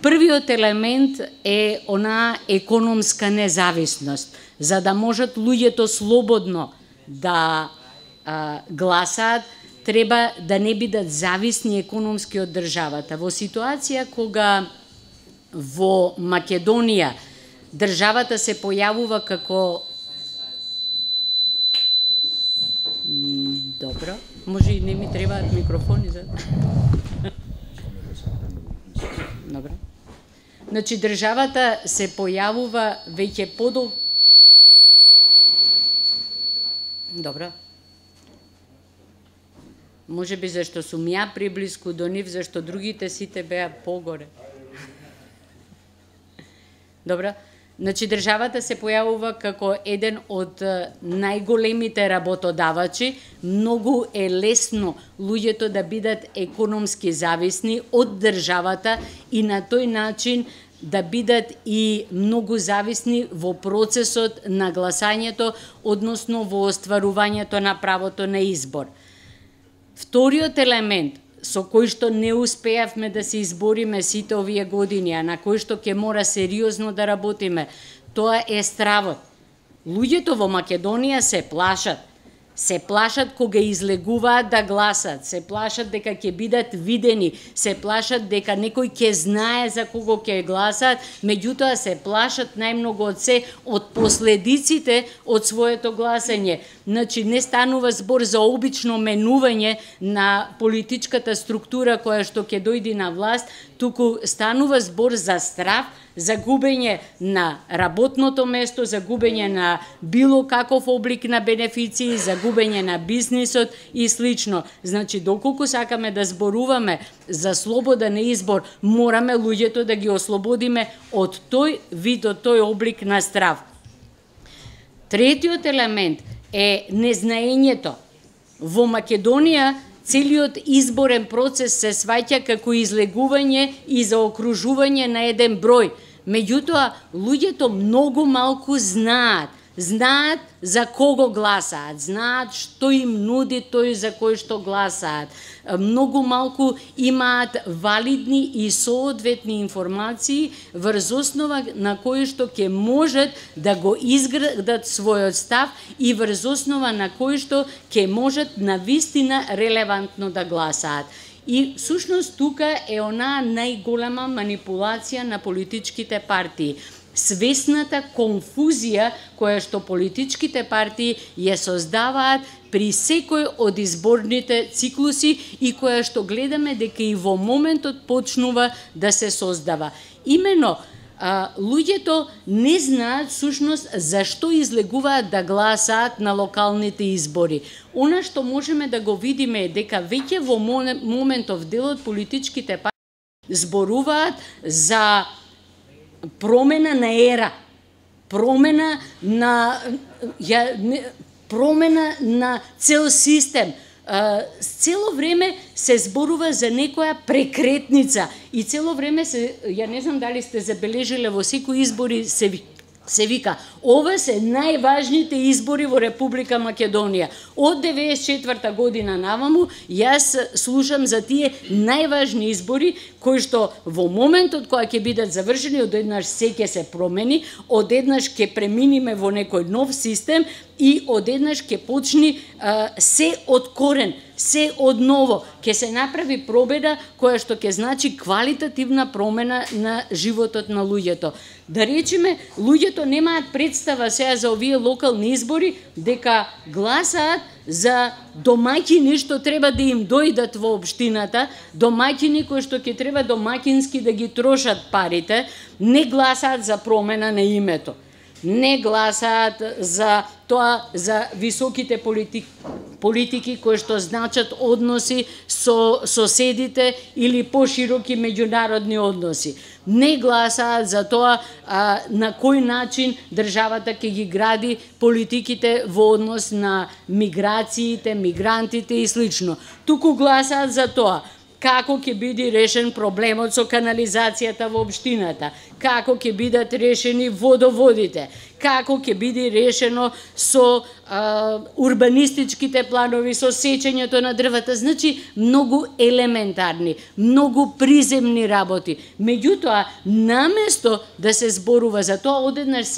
Првиот елемент е онаа економска независност, за да можат луѓето слободно да гласаат, треба да не бидат зависни економски од државата. Во ситуација кога во Македонија државата се појавува како... Добро, може и не ми требаат микрофони за... Добро. Значи, државата се појавува веќе подолго... Добро. Може би зашто сум ја приблиску до нив, зашто другите сите беа погоре. Добра? Значи, државата се појавува како еден од најголемите работодавачи. Многу е лесно луѓето да бидат економски зависни од државата и на тој начин да бидат и многу зависни во процесот на гласањето, односно во остварувањето на правото на избор. Вториот елемент со кој што не успеавме да се избориме сите овие години, а на кој што ќе мора сериозно да работиме, тоа е стравот. Луѓето во Македонија се плашат. Се плашат кога излегуваат да гласат, се плашат дека ќе бидат видени, се плашат дека некој ќе знае за кого ќе гласат, меѓутоа се плашат најмногу од се од последиците од своето гласање. Значи, не станува збор за обично менување на политичката структура која што ќе дојде на власт, туку станува збор за страв, за губење на работното место, за губење на било каков облик на бенефиции, за губење на бизнисот и слично. Значи, доколку сакаме да зборуваме за слободен избор, мораме луѓето да ги ослободиме од тој вид, од тој облик на страв. Третиот елемент е незнаењето. Во Македонија целиот изборен процес се сваќа како излегување и заокружување на еден број. Меѓутоа, луѓето многу малку знаат за кого гласаат, знаат што им нуди тој за кој што гласаат. Многу малку имаат валидни и соодветни информации врз основа на кои што ќе можат да го изградат својот став и врз основа на кои што ќе можат навистина релевантно да гласаат. И всушност тука е онаа најголема манипулација на политичките партии. Свесната конфузија која што политичките партии ја создаваат при секој од изборните циклуси и која што гледаме дека и во моментот почнува да се создава. Имено, луѓето не знаат всушност зашто излегуваат да гласаат на локалните избори. Она што можеме да го видиме е дека веќе во моментов дел од политичките партии зборуваат за промена на ера, промена на цел систем. Цело време се зборува за некоја прекретница и цело време се, ја не знам дали сте забележиле, во секои избори се вика, ова се најважните избори во Република Македонија. Од 94-та година наваму, јас слушам за тие најважни избори, кои што во моментот кога ќе бидат завршени, одеднаш се ќе се промени, одеднаш ќе преминиме во некој нов систем и одеднаш ќе почни се од корен, се од ново. Ќе се направи пробеда која што ќе значи квалитативна промена на животот на луѓето. Да речеме, луѓето немаат представа сега за овие локални избори дека гласаат за домаќини што треба да им дојдат во општината, домаќини кои што ќе треба домаќински да ги трошат парите, не гласаат за промена на името. Не гласаат за тоа, за високите политики кои што значат односи со соседите или пошироки меѓународни односи. Не гласаат за тоа на кој начин државата ќе ги гради политиките во однос на миграциите, мигрантите и слично. Туку гласаат за тоа како ќе биде решен проблемот со канализацијата во општината, како ќе бидат решени водоводите, како ќе биде решено со урбанистичките планови, со сечењето на дрвата, значи многу елементарни, многу приземни работи. Меѓутоа, наместо да се зборува за тоа, одеднаш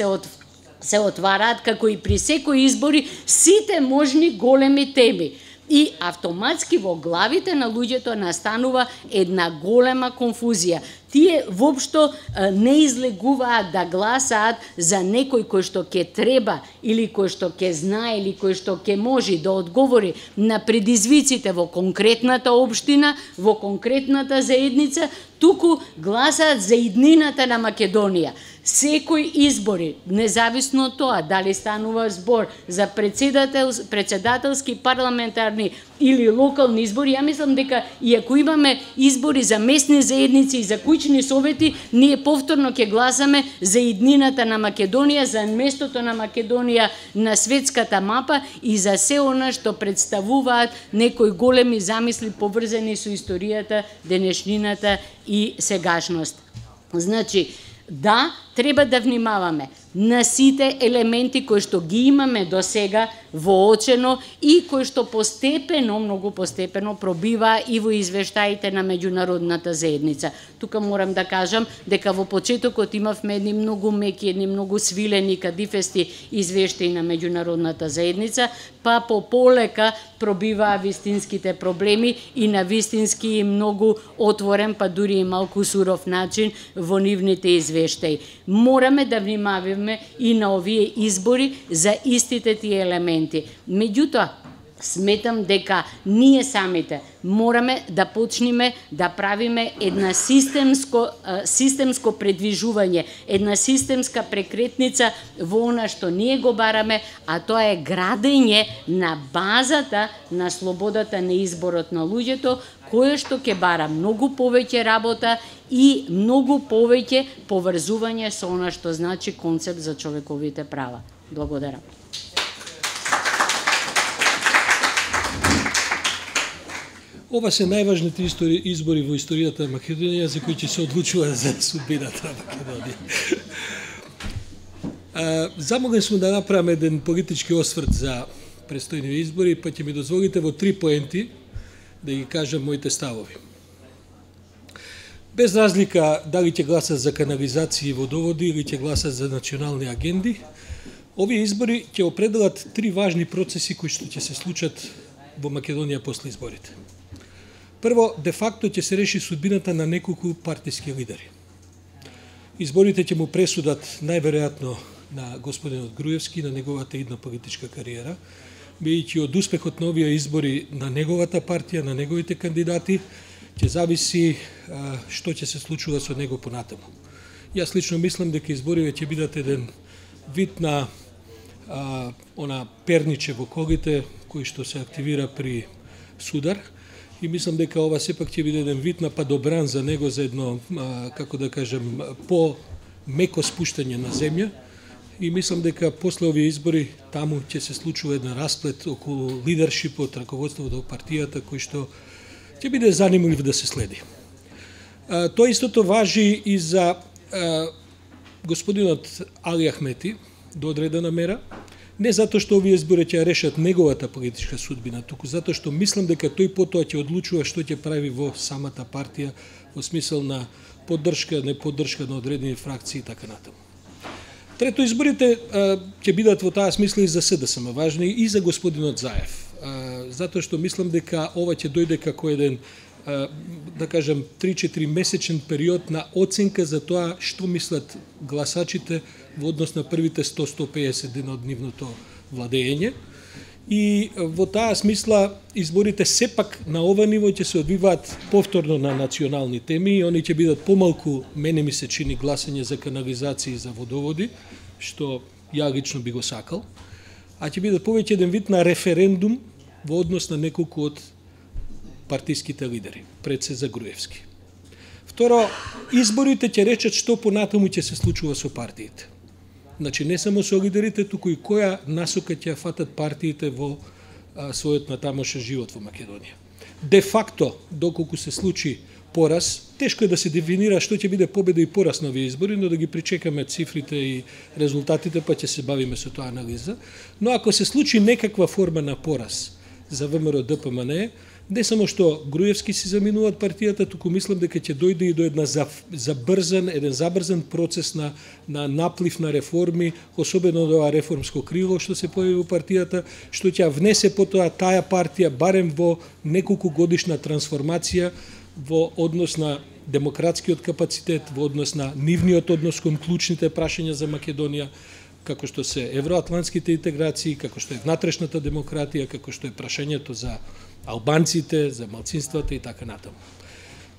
се отвараат, како и при секои избори, сите можни големи теми. И автоматски во главите на луѓето настанува една голема конфузија. тие воопшто не излегуваат да гласаат за некој кој што ќе треба или кој што ќе знае или кој што ќе може да одговори на предизвиците во конкретната општина, во конкретната заедница, туку гласаат за иднината на Македонија. Секој избори, независно од тоа дали станува збор за председателски, парламентарни или локални избори, ја мислам дека и ако имаме избори за местни заедници и за куќни совети, ние повторно ќе гласаме за иднината на Македонија, за местото на Македонија на светската мапа и за се она што представуваат некои големи замисли поврзани со историјата, денешнината и сегашност. Значи, да, треба да внимаваме на сите елементи кои што ги имаме до сега воочено и кои што постепено, многу постепено пробива и во извештаите на меѓународната заедница. Тука морам да кажам дека во почетокот имавме едни многу меки, едни многу свилени, кадифести извештаи на меѓународната заедница, па по полека пробиваа вистинските проблеми и на вистински многу отворен, па дури и малку суров начин во нивните извештаи. Мораме да внимаваме и на овие избори за истите тие елементи. Меѓутоа, сметам дека ние самите мораме да почнеме да правиме една системско предвижување, една системска прекретница во она што ние го бараме, а тоа е градење на базата на слободата на изборот на луѓето, кое што ќе бара многу повеќе работа и многу повеќе поврзување со она што значи концепт за човековите права. Благодарам. Ова се најважните избори во историјата на Македонија за кои ќе се одлучува за судбината на Македонија. Замолен сум да направам еден политички осврт за престојни избори, па ќе ми дозволите во 3 поенти да ги кажам моите ставови. Без разлика дали ќе гласат за канализации и водоводи или ќе гласат за национални агенди, овие избори ќе определат 3 важни процеси кои што ќе се случат во Македонија после изборите. Прво, де факто ќе се реши судбината на неколку партиски лидери. Изборите ќе му пресудат најверојатно на господинот Груевски, на неговата идна политичка кариера, бидејќи од успехот на овие избори на неговата партија, на неговите кандидати, ќе зависи што ќе се случува со него понатаму. Јас лично мислам дека изборите ќе бидат еден вид на она перниче во колите кој што се активира при судар, и мислам дека ова сепак ќе биде еден вид на падобран за него, за едно, како да кажем, по-меко спуштање на земја, и мислам дека после овие избори таму ќе се случува еден расплет околу лидершипот, раководството од партијата, кој што ќе биде занимлив да се следи. Тоа истото важи и за господинот Али Ахмети до одредена мера, не затоа што овие избори ќе решат неговата политичка судбина, туку затоа што мислам дека тој потоа ќе одлучува што ќе прави во самата партија, во смисол на поддршка, неподдршка на одредени фракции и така натаму. Трето, изборите ќе бидат во таа смисла и за СДСМ важни и за господинот Заев, затоа што мислам дека ова ќе дојде како еден, да кажем, 3-4 месечен период на оценка за тоа што мислат гласачите во однос на првите 100-150 дена од нивното владење. И во таа смисла изборите сепак на ова ниво ќе се одвиваат повторно на национални теми и они ќе бидат помалку, мене ми се чини, гласање за канализации и за водоводи, што ја лично би го сакал, а ќе бидат повеќе еден вид на референдум во однос на неколку од партиските лидери, пред се за Груевски. Второ, изборите ќе речат што понатаму ќе се случува со партиите. Значи, не само со лидерите, туку и која насока ќе фатат партиите во својот натамошен живот во Македонија. Де факто, доколку се случи пораз, тешко е да се дефинира што ќе биде победа и пораз на овие избори, но да ги причекаме цифрите и резултатите, па ќе се бавиме со тоа анализа. Но ако се случи некаква форма на пораз за ВМРО ДПМН, не само што Груевски си заминуваат партијата, туку мислам дека ќе дојде и до еден забрзан процес на наплив на реформи, особено до ова реформско крило што се појави во партијата, што ќе внесе потоа таа партија барем во неколку годишна трансформација во однос на демократскиот капацитет, во однос на нивниот однос кон клучните прашања за Македонија, како што се евроатлантските интеграции, како што е внатрешната демократија, како што е прашањето за албанците, за малцинствата и така натаму.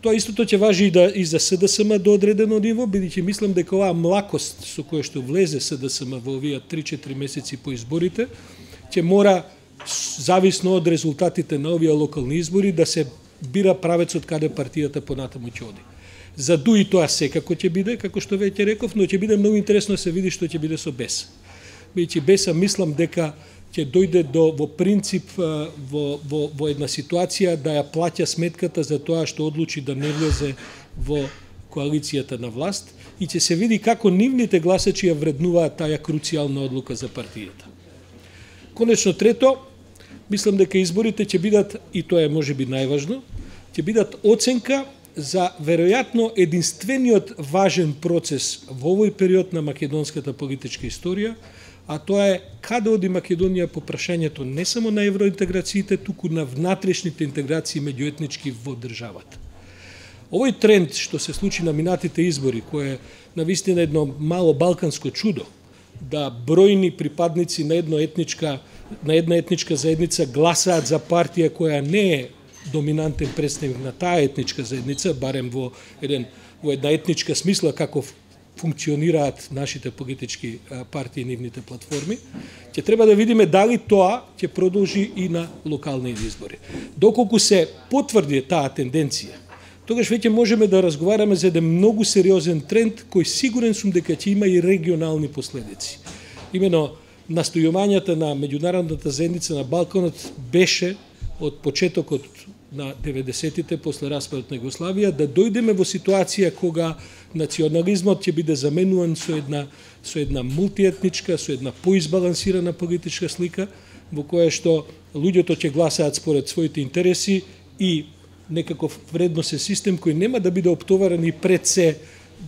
Тоа истото ќе важи и за СДСМ до одредено ниво, бидејќи мислам дека оваа млакост со која што влезе СДСМ во овие 3-4 месеци по изборите, ќе мора, зависно од резултатите на овие локални избори, да се бира правецот каде партијата понатаму ќе оди. За ДУИ тоа секако ќе биде, како што веќе реков, но ќе биде многу интересно да се види што ќе биде со БЕС. Бидејќи БЕС мислам дека ќе дојде во принцип во една ситуација да ја плаќа сметката за тоа што одлучи да не влезе во коалицијата на власт и ќе се види како нивните гласачи ја вреднуваат таа круцијална одлука за партијата. Конечно трето, мислам дека изборите ќе бидат, и тоа е можеби најважно, ќе бидат оценка за веројатно единствениот важен процес во овој период на македонската политичка историја, а тоа е каде оди Македонија по прашањето не само на евроинтеграциите, туку на внатрешните интеграции меѓуетнички во државата. Овој тренд што се случи на минатите избори, кој е навистина едно мало балканско чудо, да бројни припадници на една етничка заедница гласаат за партија која не е доминантен представник на таа етничка заедница, барем во една етничка смисла како функционираат нашите политички партии и нивните платформи, ќе треба да видиме дали тоа ќе продолжи и на локални избори. Доколку се потврди таа тенденција, тогаш веќе можеме да разговараме за еден многу сериозен тренд кој сигурен сум дека ќе има и регионални последици. Имено настојувањата на меѓународната заедница на Балканот беше од почетокот на 90-тите после распадот на Југославија да дојдеме во ситуација кога национализмот ќе биде заменуван со една мултиетничка, со една поизбалансирана политичка слика во која што луѓето ќе гласаат според своите интереси и некаков вредносен систем кој нема да биде оптоварен и пред се,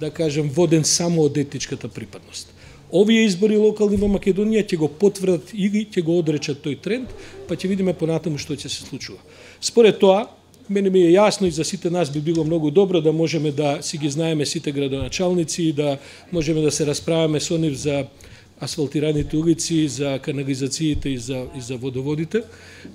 да кажем, воден само од етничката припадност. Овие избори локални во Македонија ќе го потврдат или ќе го одречат тој тренд, па ќе видиме понатаму што ќе се случува. Според тоа, мене ми е јасно и за сите нас би било многу добро да можеме да си ги знаеме сите градоначалници и да можеме да се расправаме со нив за асфалтираните улици, за канализациите и за водоводите.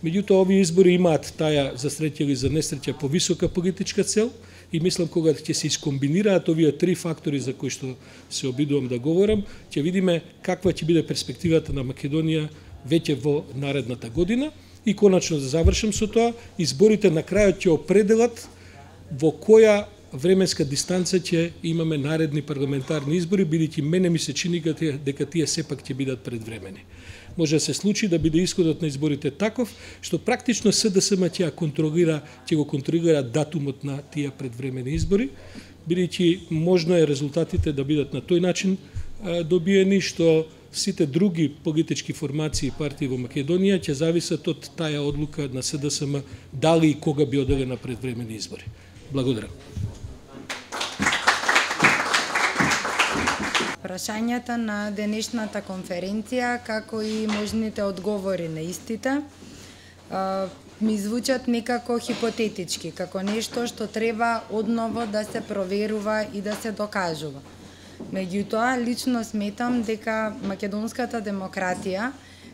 Меѓутоа, овие избори имаат таа, за среќа или за несреќа, повисока политичка цел и мислам кога ќе се искомбинираат овие три фактори за кои што се обидувам да говорам, ќе видиме каква ќе биде перспективата на Македонија веќе во наредната година. И конечно да завршам со тоа, изборите на крајот ќе определат во која временска дистанца ќе имаме наредни парламентарни избори, бидејќи мене ми се чини дека тие сепак ќе бидат предвремени. Може да се случи да биде исходот на изборите таков, што практично СДСМ ќе го контролира датумот на тие предвремени избори, бидејќи можно е резултатите да бидат на тој начин добиени, што сите други политички формации и партии во Македонија ќе зависат од таа одлука на СДСМ дали и кога би оделе на предвремени избори. Благодарам. Прашањата на денешната конференција, како и можните одговори на истите, ми звучат некако хипотетички, како нешто што треба одново да се проверува и да се докажува. Меѓутоа, лично сметам дека македонската демократија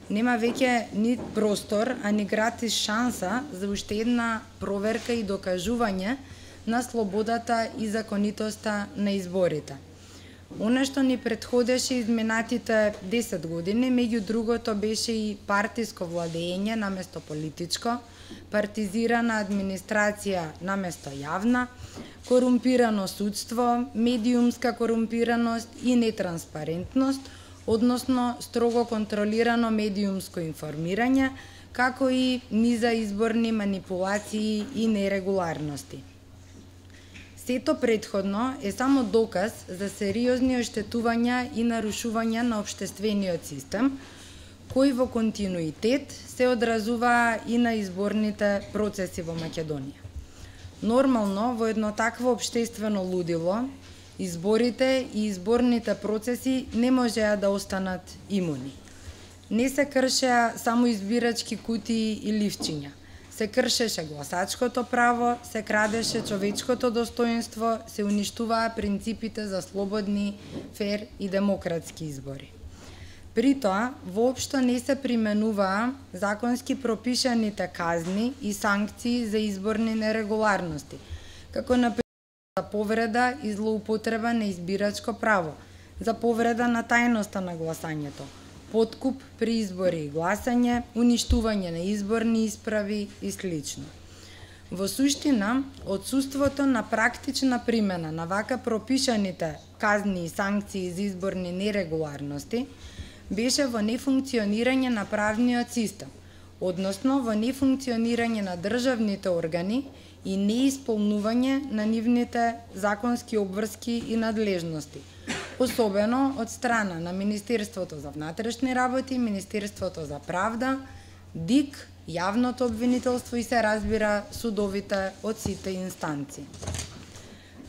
нема веќе ни простор, а ни гратис шанса за уште една проверка и докажување на слободата и законитоста на изборите. Она што ни претходеше изминатите 10 години, меѓу другото беше и партиско владење наместо политичко, партизирана администрација наместо јавна, корумпирано судство, медиумска корумпираност и нетранспарентност, односно строго контролирано медиумско информирање, како и низа изборни манипулации и нерегуларности. Сето претходно е само доказ за сериозни оштетувања и нарушувања на општествениот систем, кои во континуитет се одразува и на изборните процеси во Македонија. Нормално, во едно такво општествено лудило, изборите и изборните процеси не можеа да останат имуни. Не се кршеа само избирачки кутии и ливчиња. се кршеше гласачкото право, се крадеше човечкото достоинство, се уништуваа принципите за слободни, фер и демократски избори. При тоа, воопшто не се применуваа законски пропишаните казни и санкции за изборни нерегуларности, како например за повреда и злоупотреба на избирачко право, за повреда на тајноста на гласањето, подкуп при избори и гласање, уништување на изборни исправи и слично. Во суштина, отсуството на практична примена на вака пропишаните казни и санкции за изборни нерегуларности беше во нефункционирање на правниот систем, односно во нефункционирање на државните органи и неисполнување на нивните законски обврски и надлежности, особено од страна на Министерството за внатрешни работи, Министерството за правда, ДИК, јавното обвинителство и се разбира судовите од сите инстанции.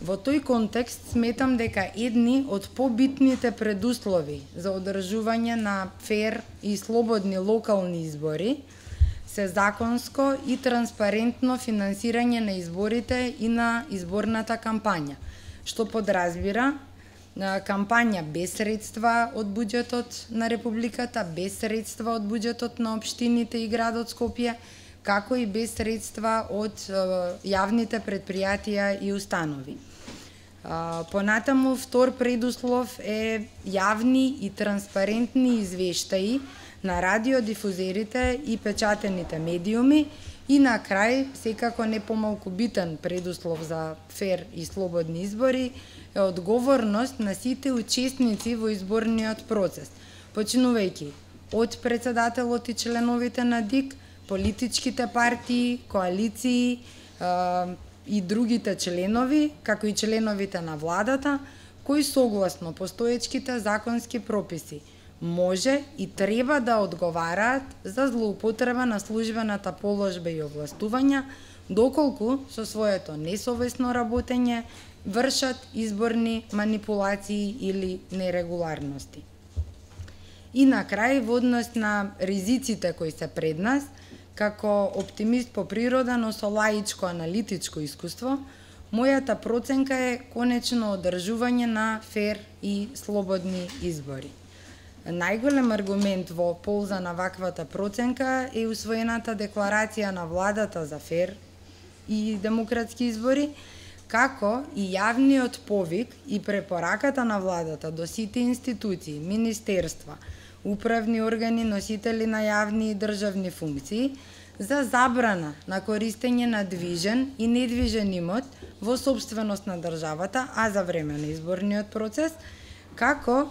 Во тој контекст сметам дека едни од побитните предуслови за одржување на фер и слободни локални избори се законско и транспарентно финансирање на изборите и на изборната кампања, што подразбира кампања без средства од буџетот на Републиката, без средства од буџетот на општините и градот Скопје, како и без средства од јавните предпријатија и установи. Понатаму, втор предуслов е јавни и транспарентни извештаи на радиодифузерите и печатените медиуми и на крај, секако не помалку битен предуслов за фер и слободни избори, е одговорност на сите учесници во изборниот процес, починувајќи од председателот и членовите на ДИК, политичките партии, коалиции и другите членови, како и членовите на владата, кои согласно постоечките законски прописи може и треба да одговараат за злоупотреба на службената положба и овластувања, доколку со своето несовесно работење вршат изборни манипулации или нерегуларности. И на крај, во однос на ризиците кои се пред нас, како оптимист по природа, но со лаичко аналитичко искуство, мојата проценка е конечно одржување на фер и слободни избори. Најголем аргумент во полза на ваквата проценка е усвоената декларација на владата за фер и демократски избори, како и јавниот повик и препораката на владата до сите институции, министерства, управни органи, носители на јавни и државни функции за забрана на користење на движен и недвижен имот во собственост на државата, а за време на изборниот процес, како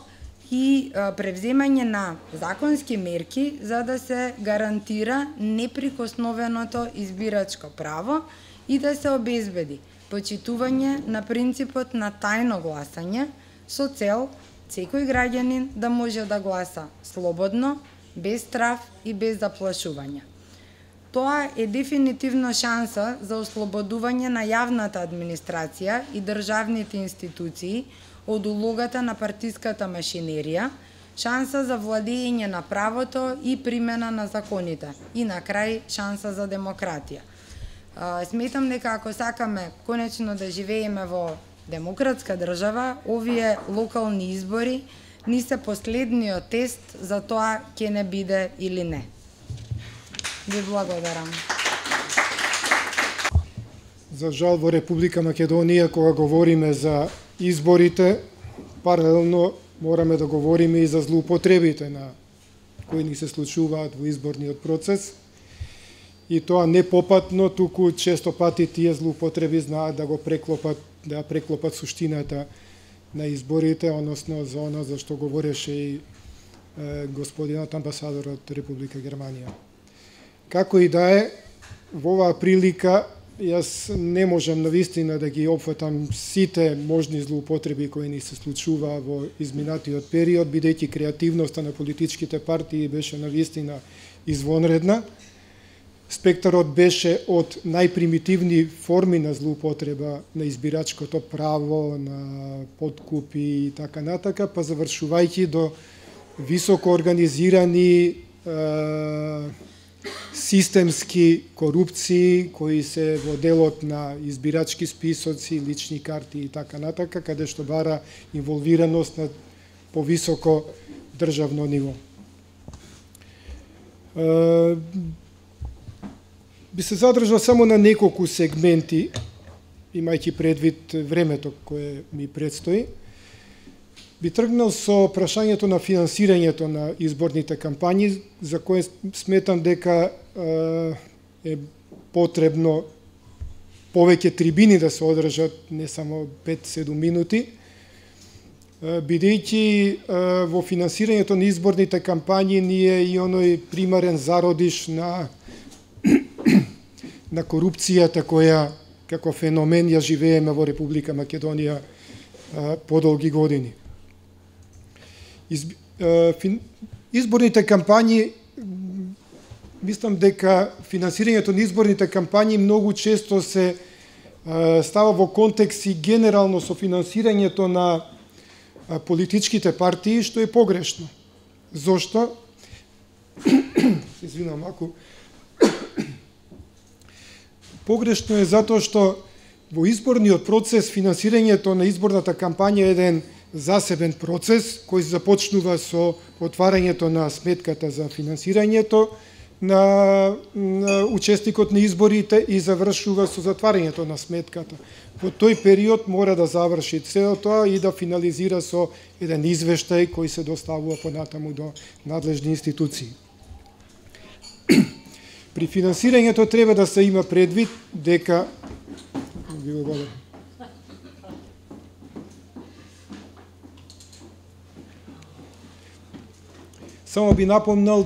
и превземање на законски мерки за да се гарантира неприкосновеното избирачко право и да се обезбеди почитување на принципот на тајно гласање со цел секој граѓанин да може да гласа слободно, без страв и без заплашување. Тоа е дефинитивно шанса за ослободување на јавната администрација и државните институции од улогата на партиската машинерија, шанса за владење на правото и примена на законите и на крај шанса за демократија. Сметам дека ако сакаме конечно да живееме во демократска држава, овие локални избори ни се последниот тест за тоа ќе не биде или не. Ви благодарам. За жал во Република Македонија, кога говориме за изборите, паралелно мораме да говориме и за злоупотребите на кои ни се случуваат во изборниот процес. И тоа не попатно, туку често пати тие злоупотреби знаат да го преклопат, да преклопат суштината на изборите, односно за оно за што говореше и господинот амбасадор од Република Германија. Како и да е, во оваа прилика јас не можам навистина да ги опфатам сите можни злоупотреби кои ни се случува во изминатиот период, бидејќи креативноста на политичките партии беше навистина извонредна. Спектарот беше од најпримитивни форми на злоупотреба на избирачкото право, на подкупи и така натака, па завршувајќи до високо организирани системски корупции кои се во делот на избирачки списоци, лични карти и така натака, каде што бара инволвираност на повисоко државно ниво. Би се задржал само на неколку сегменти, имајќи предвид времето кое ми предстои. Би тргнал со прашањето на финансирањето на изборните кампањи, за кое сметам дека е потребно повеќе трибини да се одржат, не само 5-7 минути, бидејќи во финансирањето на изборните кампањи ние и оној примарен зародиш на корупцијата која како феномен ја живееме во Република Македонија подолги години. Изборните кампањи, мислам дека финансирањето на изборните кампањи многу често се става во контекст и генерално со финансирањето на политичките партии, што е погрешно. Зошто? Извинам, ако погрешно е затоа што во изборниот процес финансирањето на изборната кампања е еден засебен процес кој започнува со отварањето на сметката за финансирањето на учесникот на изборите и завршува со затварањето на сметката. Во тој период мора да заврши цело тоа и да финализира со еден извештај кој се доставува понатаму до надлежни институции. При финансирањето треба да се има предвид дека Само би напомнал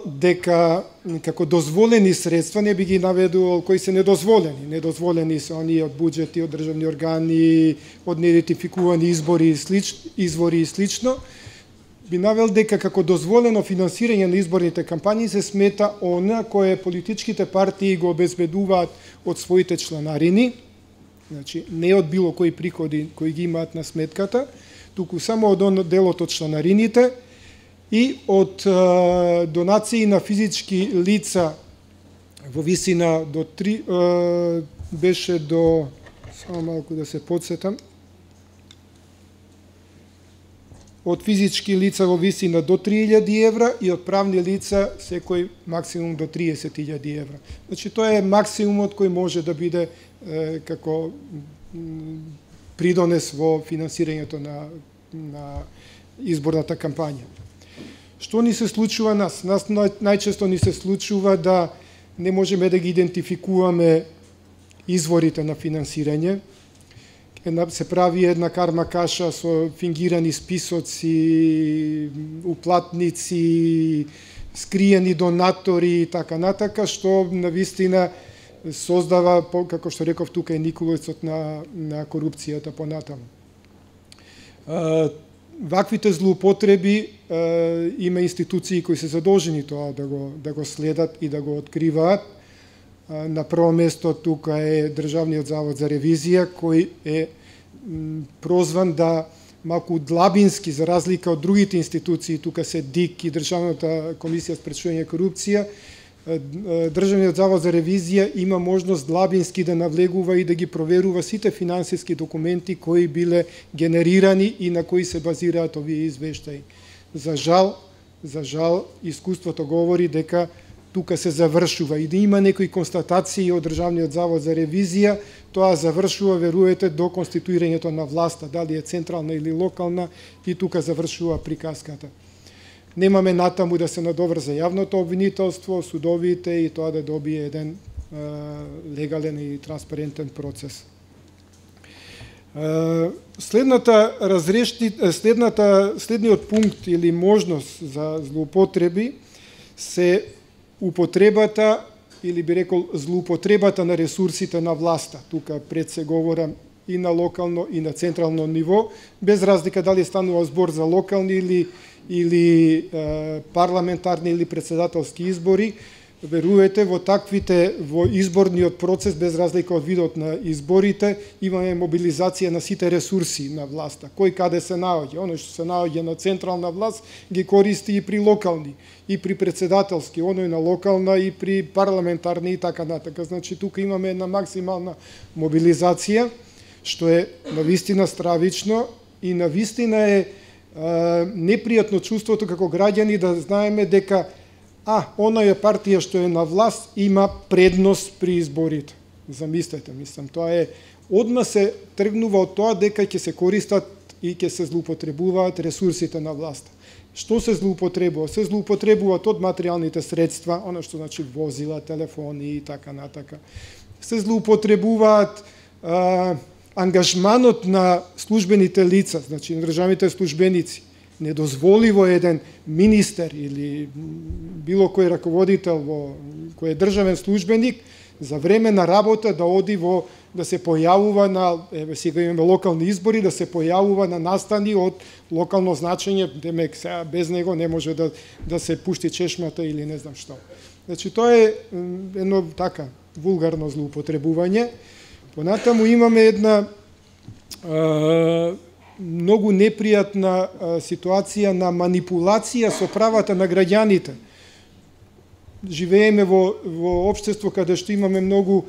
дека како дозволени средства не би ги наведувал кои се недозволени. Недозволени се оние од буџети, од државни органи, од неидентификувани извори и слично. Би навел дека како дозволено финансирање на изборните кампањи се смета она кое политичките партии го обезбедуваат од своите чланарини, значи не од било кои приходи кои ги имаат на сметката, туку само од делот од чланарините и од донации на физички лица во висина до 3 беше до само малку да се подсетам, од физички лица во висина до 3000 евра и од правни лица секој максимум до 30.000 евра. Значи тоа е максимумот кој може да биде како придонес во финансирањето на изборната кампања. Што ни се случува нас? Нас најчесто ни се случува да не можеме да ги идентификуваме изворите на финансирање. Се прави една карма каша со фингирани списоци, уплатници, скриени донатори и така натака, што навистина создава, како што реков тука, е никулецот на корупцијата понатаму. Ваквите злоупотреби има институции кои се задолжени тоа да го следат и да го откриваат. На прво место тука е Државниот завод за ревизија, кој е прозван да малку длабински, за разлика од другите институции, тука се ДИК и Државната комисија за спречување корупција, Државниот завод за ревизија има можност длабински да навлегува и да ги проверува сите финансиски документи кои биле генерирани и на кои се базираат овие извештаи. За жал, искуството говори дека тука се завршува и да има некои констатации од Државниот завод за ревизија, тоа завршува, веруете, до конституирањето на власта, дали е централна или локална, и тука завршува приказката. Немаме натаму да се надоврза јавното обвинителство, судовите и тоа да добие еден легален и транспарентен процес. Следниот пункт или можност за злоупотреби се употребата, или би рекол злоупотребата на ресурсите на власта. Тука пред се говорам и на локално и на централно ниво, без разлика дали станува збор за локални или парламентарни или председателски избори. верувате во во изборниот процес, без разлика од видот на изборите, имаме мобилизација на сите ресурси на власта. Кој каде се наоѓа, оно што се наоѓа на централна власт ги користи и при локални, и при председателски, оно и на локална и при парламентарни и така натака. Значи тука имаме една максимална мобилизација, што е навистина стравично и навистина е непријатно чувството како граѓани да знаеме дека онаја партија што е на власт има предност при изборите. Замислете, мислам, тоа е одма се тргнува од тоа дека ќе се користат и ќе се злоупотребуваат ресурсите на власта. Што се злоупотребува? Се злоупотребуваат од материјалните средства, она што значи возила, телефони и така натака. Се злоупотребуваат ангажманот на службените лица, значи на државните службеници. Недозволиво еден министер или било кој раководител кој е државен службеник за време на работа да оди да се појавува на сега имаме локални избори, да се појавува на настани од локално значење, демек сега без него не може да се пушти чешмата или не знам што. Значи тоа е едно така вулгарно злоупотребување. Понатаму имаме една многу непријатна ситуација на манипулација со правата на граѓаните. Живееме во општество каде што имаме многу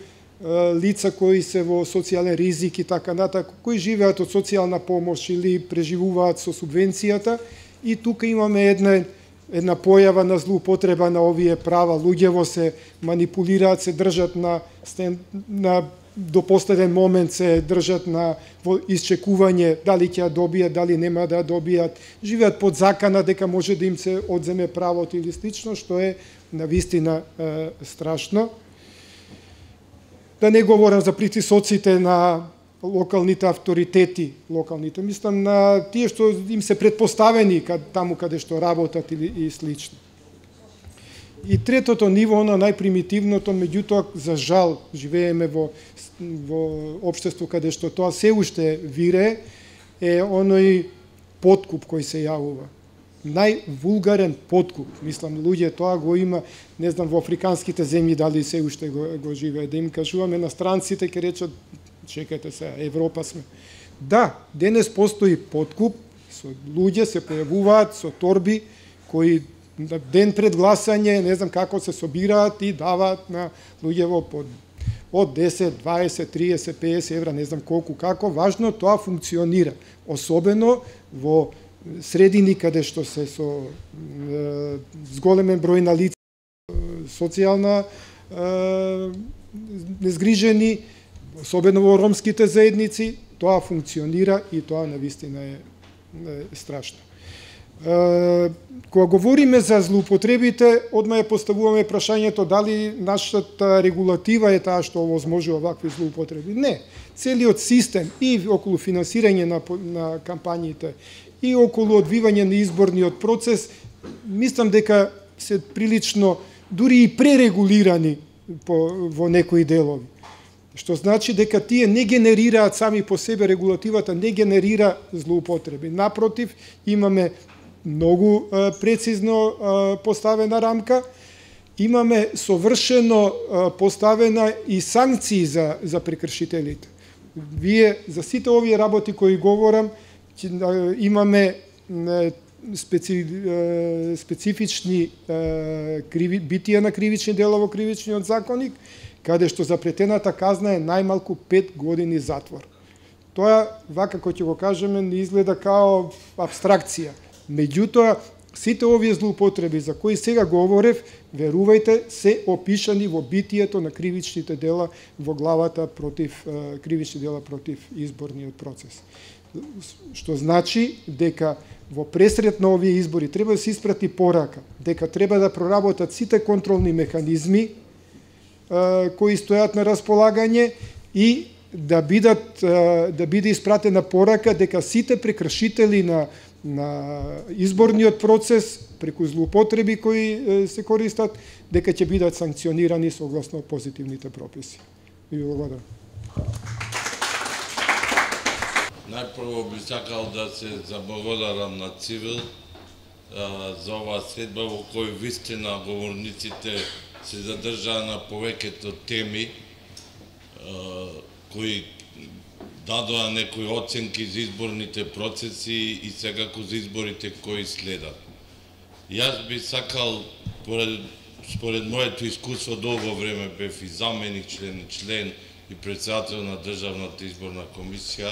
лица кои се во социјален ризик и така натака, кои живеат од социјална помош или преживуваат со субвенцијата, и тука имаме една појава на злоупотреба на овие права. Луѓево се манипулираат, се држат до последен момент се држат во исчекување дали ќе ја добијат, дали нема да ја добијат, живеат под закана дека може да им се одземе правото или слично, што е навистина страшно. Да не говорам за притисоците на локалните авторитети, мислам на тие што им се предпоставени таму каде што работат и слично. И третото ниво, оно најпримитивното, меѓутоа за жал живееме во општество каде што тоа се уште вирее, е оној подкуп кој се јавува. Највулгарен подкуп, мислам, луѓе тоа го има, не знам во африканските земји дали се уште го живее, да им кажуваме на странците, ќе речат чекајте се, Европа сме. Да, денес постои подкуп, со луѓе се појавуваат со торби кои ден пред гласање, не знам како се собираат и даваат на луѓево од 10, 20, 30, 50 евра, не знам колку како, важно тоа функционира. Особено во средини каде што се со зголемен број на лица, социјална незгрижени, особено во ромските заедници, тоа функционира и тоа навистина е страшно. Кога говориме за злоупотребите, одма ја поставуваме прашањето дали нашата регулатива е таа што овозможува вакви злоупотреби. Не. Целиот систем и околу финансирање на кампањите и околу одвивање на изборниот процес, мислам дека се прилично дури и пререгулирани во некои делови. Што значи дека тие не генерираат сами по себе, регулативата не генерира злоупотреби. Напротив, имаме многу прецизно поставена рамка, имаме совршено поставена и санкции за прекршителите. Вие за сите овие работи кои говорам, имаме специфични битија на кривични дела во кривичниот законник, каде што запретената казна е најмалку 5 години затвор. Тоа, вака кој ќе го кажеме, не изгледа као абстракција. Меѓутоа, сите овие злоупотреби за кои сега говорев, верувајте, се опишани во битието на кривичните дела во главата против кривични дела против изборниот процес. Што значи дека во пресред на овие избори треба да се испрати порака, дека треба да проработат сите контролни механизми кои стојат на располагање и да биде испратена порака дека сите прекршители на изборниот процес преку злоупотреби кои се користат, дека ќе бидат санкционирани согласно позитивните прописи. Ви благодарам. Најпрво би сакал да се заблагодарам на Цивил за оваа средба во кој вистина говорниците се задржаа на повеќето теми кои дадоа некои оценки за изборните процеси и секако за изборите кои следат. Јас би сакал, според моето искуство, долго време бев и заменик член и председател на Државната изборна комисија,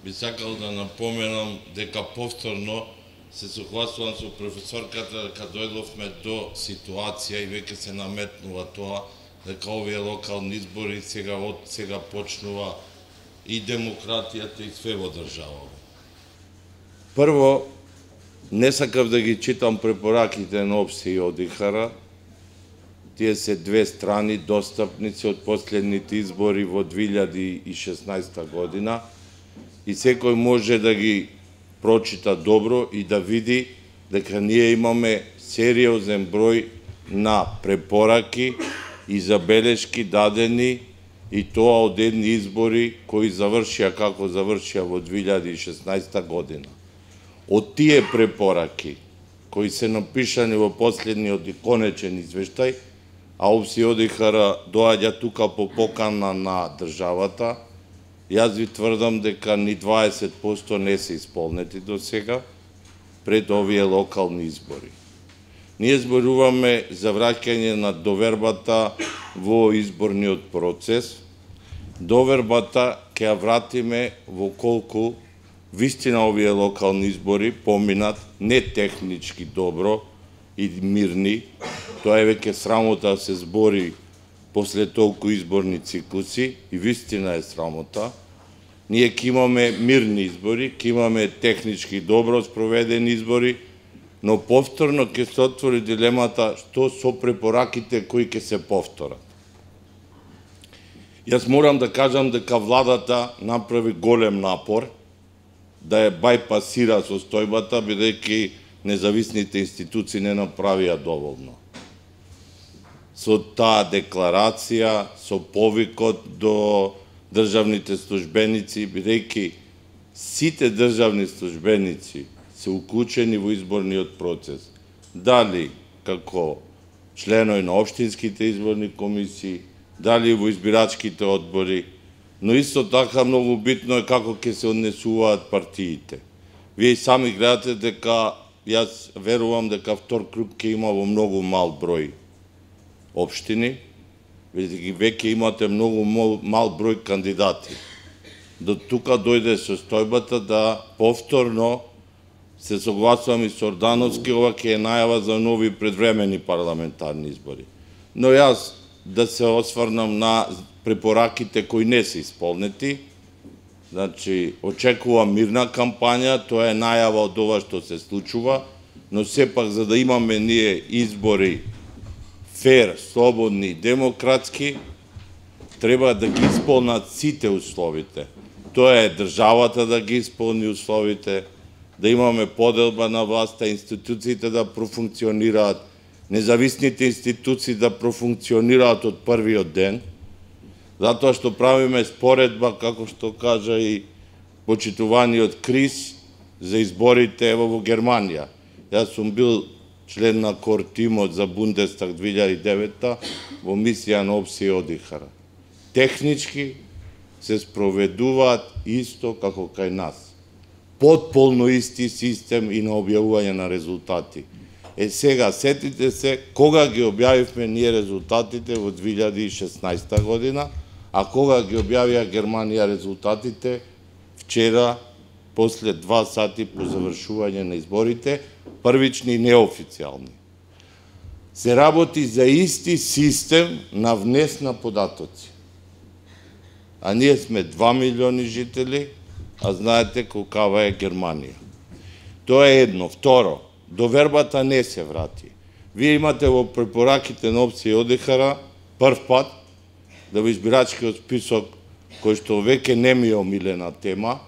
би сакал да напоменам дека повторно се согласувам со професорката дека дојдовме до ситуација и веќе се наметнува тоа дека овие локални избори сега почнува и демократијата и све во држава. Прво, не сакав да ги читам препораките на ОПСЕ и ОДИХР. Тие се две страни достапници од последните избори во 2016 година и секој може да ги прочита добро и да види дека ние имаме сериозен број на препораки и забелешки дадени и тоа од едни избори кои завршија како завршија во 2016 година. Од тие препораки кои се напишани во последниот и конечен извештај, а ОПСЕ и ОДИХР доаѓа тука по покана на државата, јас ви тврдам дека ни 20% не се исполнети до сега пред овие локални избори. Ние зборуваме за враќање на довербата во изборниот процес. Довербата ќе ја вратиме во колку вистина овие локални избори поминат не технички добро и мирни. Тоа е веќе срамота да се збори после толку изборни циклуси и вистина е срамота. Ние ќе имаме мирни избори, ќе имаме технички добро спроведени избори, но повторно ќе се отвори дилемата што со препораките кои ќе се повторат. Јас морам да кажам дека владата направи голем напор да ја бајпасира состојбата, бидејќи независните институции не направија доволно. Со таа декларација, со повикот до државните службеници, бидејќи сите државни службеници се уклучени во изборниот процес, дали како членови на општинските изборни комисии, дали во избирачките одбори, но исто така многу битно е како ќе се однесуваат партиите. Вие и сами гледате дека јас верувам дека втор круг ќе има во многу мал број општини, бидејќи веќе имате многу мал број кандидати. До тука дојде состојбата да повторно се согласувам и со Ордановски, ова ќе е најава за нови предвремени парламентарни избори. Но јас да се осврнам на препораките кои не се исполнети. Значи, очекувам мирна кампања, тоа е најава од ова што се случува, но сепак за да имаме ние избори фер, слободни и демократски, треба да ги исполнат сите условите. Тоа е државата да ги исполни условите, да имаме поделба на власта, институциите да профункционираат, независните институции да профункционираат од првиот ден, затоа што правиме споредба, како што кажа и почитуваниот Крис, за изборите ево во Германија. Јас сум бил член на кор тимот за Бундестаг 2009 во мисија на ОПСЕ и ОДИХР. Технички се спроведуваат исто како кај нас. Потполно исти систем и на објавување на резултати. Сега, сетите се, кога ги објавивме ние резултатите во 2016 година, а кога ги објавија Германија резултатите вчера, после 2 сати по завршување на изборите, првични и неофицијални. Се работи за исти систем на внес на податоци. А ние сме 2 милиони жители, а знаете колкава е Германија. Тоа е едно. Второ, довербата не се врати. Вие имате во препораките на ОПСЕ и ОДИХР прв пат да во избирачкиот список, кој што веќе не ми е омилена тема,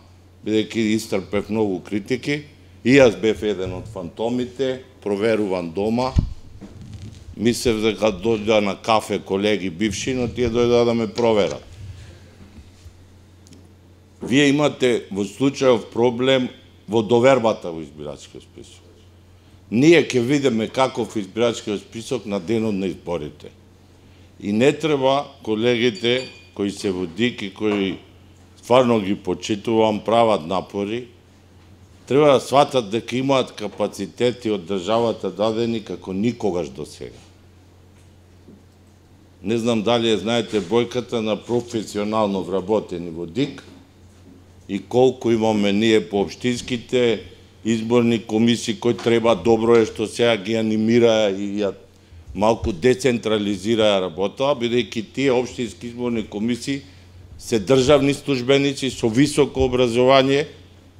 бидејќи истрпев многу критики, и јас бев еден од фантомите, проверуван дома, мислев дека дојдоа на кафе колеги бивши, но тие дојдоа да ме проверат. Вие имате во случајов проблем во довербата во избирачкиот список. Ние ќе видиме каков избирачкиот список на денот на изборите. И не треба колегите кои се во ДИК и кои стварно ги почитувам, прават напори, треба да сватат дека имаат капацитети од државата дадени како никогаш до сега. Не знам дали ја знаете бројката на професионално вработени во ДИК и колку имаме ние по општинските изборни комисии кои треба, добро е што сега ги анимира и ја малку децентрализира работа, бидејќи тие општински изборни комисии се државни службеници со високо образование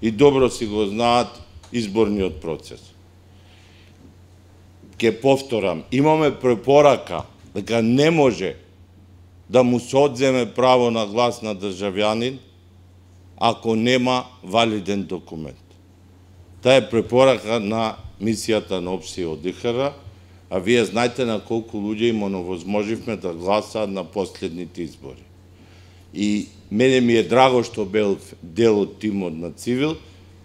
и добро си го знаат изборниот процес. Ке повторам, имаме препорака дека не може да му се одземе право на глас на државјанин ако нема валиден документ. Таа е препорака на мисијата на ОПСИ ОДИХР, а вие знаете на колку луѓе им оневозможивме да гласаат на последните избори. И мене ми е драго што бил дел од тимот на Цивил,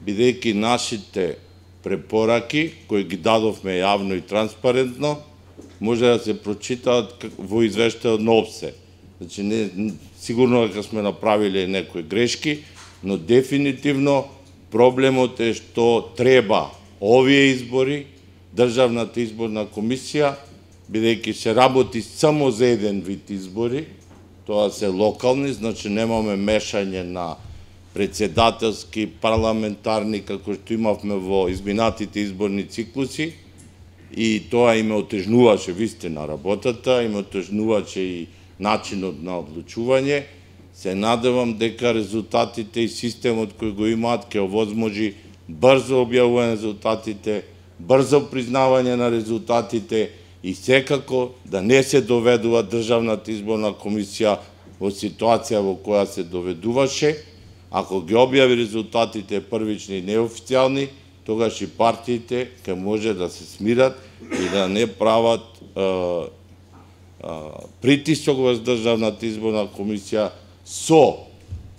бидејќи нашите препораки, кои ги дадовме јавно и транспарентно, може да се прочитаат во извештајот на ОПСЕ. Значи, сигурно дека сме направиле некои грешки, но дефинитивно проблемот е што треба овие избори, Државната изборна комисија, бидејќи се работи само за еден вид избори, тоа се локални, значи немаме мешање на председателски, парламентарни, како што имавме во изминатите изборни циклуси, и тоа име отежнуваше вистина работата, име отежнуваше и начинот на одлучување. Се надевам дека резултатите и системот кој го имаат ќе овозможи брзо објавување на резултатите, брзо признавање на резултатите и секако да не се доведува Државната изборна комисија во ситуација во која се доведуваше. Ако ги објави резултатите првични и неофицијални, тогаш и партиите ќе може да се смират и да не прават притисок во Државната изборна комисија со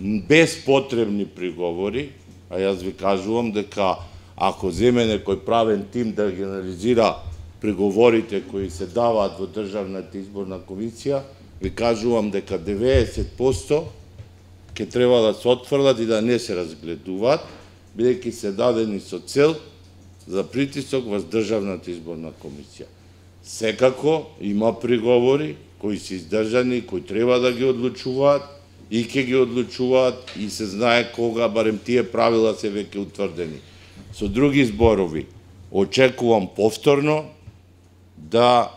безпотребни приговори, а јас ви кажувам дека ако земе некој правен тим да ги анализира приговорите кои се даваат во Државната изборна комисија, ви кажувам дека 90% ќе треба да се отфрлат и да не се разгледуваат, бидејќи се дадени со цел за притисок во Државната изборна комисија. Секако има приговори кои се издржани, кои треба да ги одлучуваат и ќе ги одлучуваат и се знае кога, барем тие правила се веќе утврдени. Со други зборови, очекувам повторно да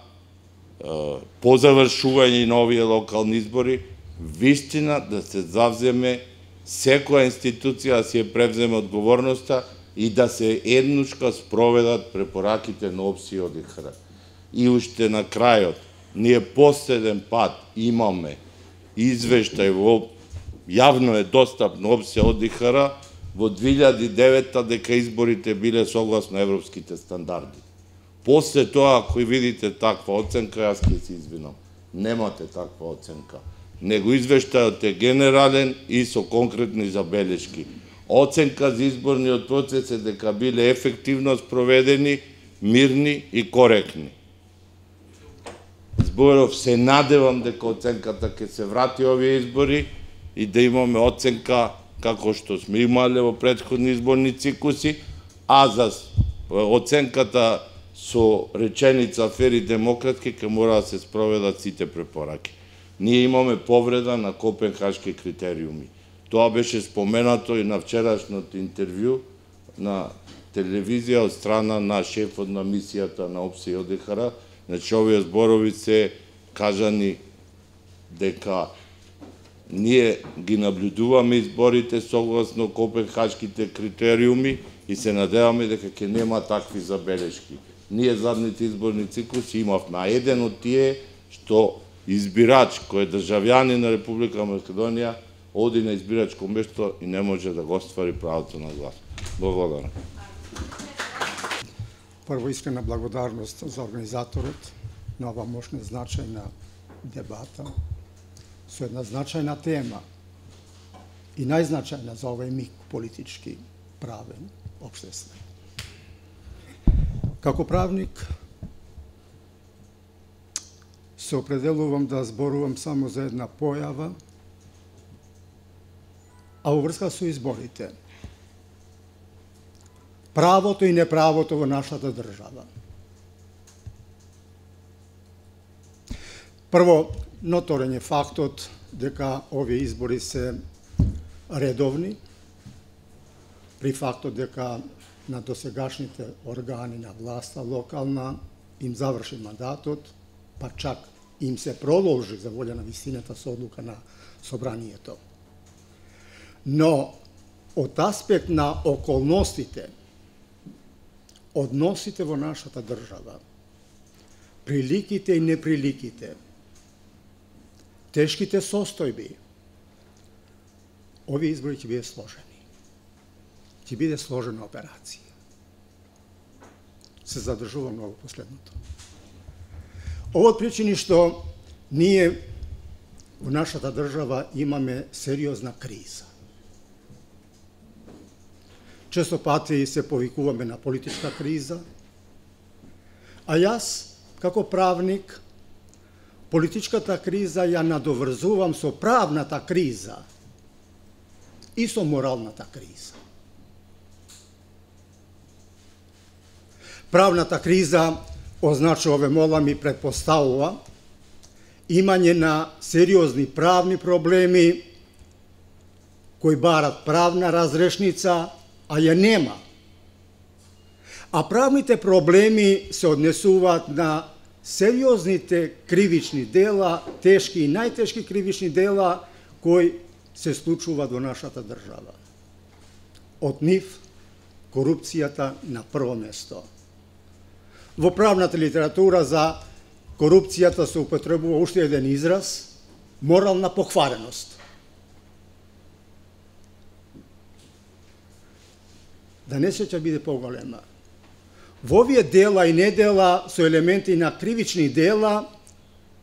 по завршување на овие локални избори вистина да се завземе секоја институција да си ја превземе одговорноста и да се еднушка спроведат препораките на ОПСИ ОДИХР. И уште на крајот, ние последен пат имаме извештај во јавно е достапно ОПСИ ОДИХР во 2009 дека изборите биле согласно европските стандарди. После тоа, ако видите таква оценка, јас ќе се извинам. Немате таква оценка. Него извештајот е генерален и со конкретни забелешки. Оценка за изборниот процес е дека биле ефективно спроведени, мирни и коректни. Зборов се надевам дека оценката ќе се врати овие избори и да имаме оценка како што сме имале во претходни изборни циклуси, а за оценката со реченица фери демократски ќе мора да се спроведат сите препораки. Ние имаме повреда на Копенхашки критериуми. Тоа беше споменато и на вчерашното интервју на телевизија од страна на шефот на мисијата на ОПСИ ОДИХР. Значи, овие зборови се кажани дека ние ги наблюдуваме изборите согласно Копенхашките критериуми и се надеваме дека ќе нема такви забелешки. Ние задните изборни циклуси имавме, а еден од тие што избирач кој е државјанин на Република Македонија оди на избирачко место и не може да го оствари правото на глас. Благодарам. Прво искрена благодарност за организаторот на ова мощна значајна дебата со една значајна тема и најзначајна за овој миг политички, правен, општествен. Како правник се определувам да зборувам само за една појава, а во врска со изборите. Правото и неправото во нашата држава. Прво, ноторен е фактот дека овие избори се редовни, при фактот дека на досегашните органи на власта локална им заврши мандатот, па чак им се продолжи за волја на вистината со одлука на собранието. Но од аспект на околностите, односите во нашата држава, приликите и неприликите, тешките состојби, овие избори ќе биде сложени. Ќе биде сложена операција. Се задржувам на последното. Ово од причини што ние во нашата држава имаме сериозна криза. Често пати се повикуваме на политичка криза, а јас, како правник, политичката криза ја надоврзувам со правната криза и со моралната криза. Правната криза означува, ве молам, и предпоставува имање на сериозни правни проблеми кои барат правна разрешница, а ја нема. А правните проблеми се однесуваат на сериозните кривични дела, тешки и најтешки кривични дела кои се случуваат во нашата држава. Од нив корупцијата на прво место. Во правната литература за корупцијата се употребува уште еден израз – морална поквареност. Да не се ќе биде поголема. Во овие дела и недела со елементи на кривични дела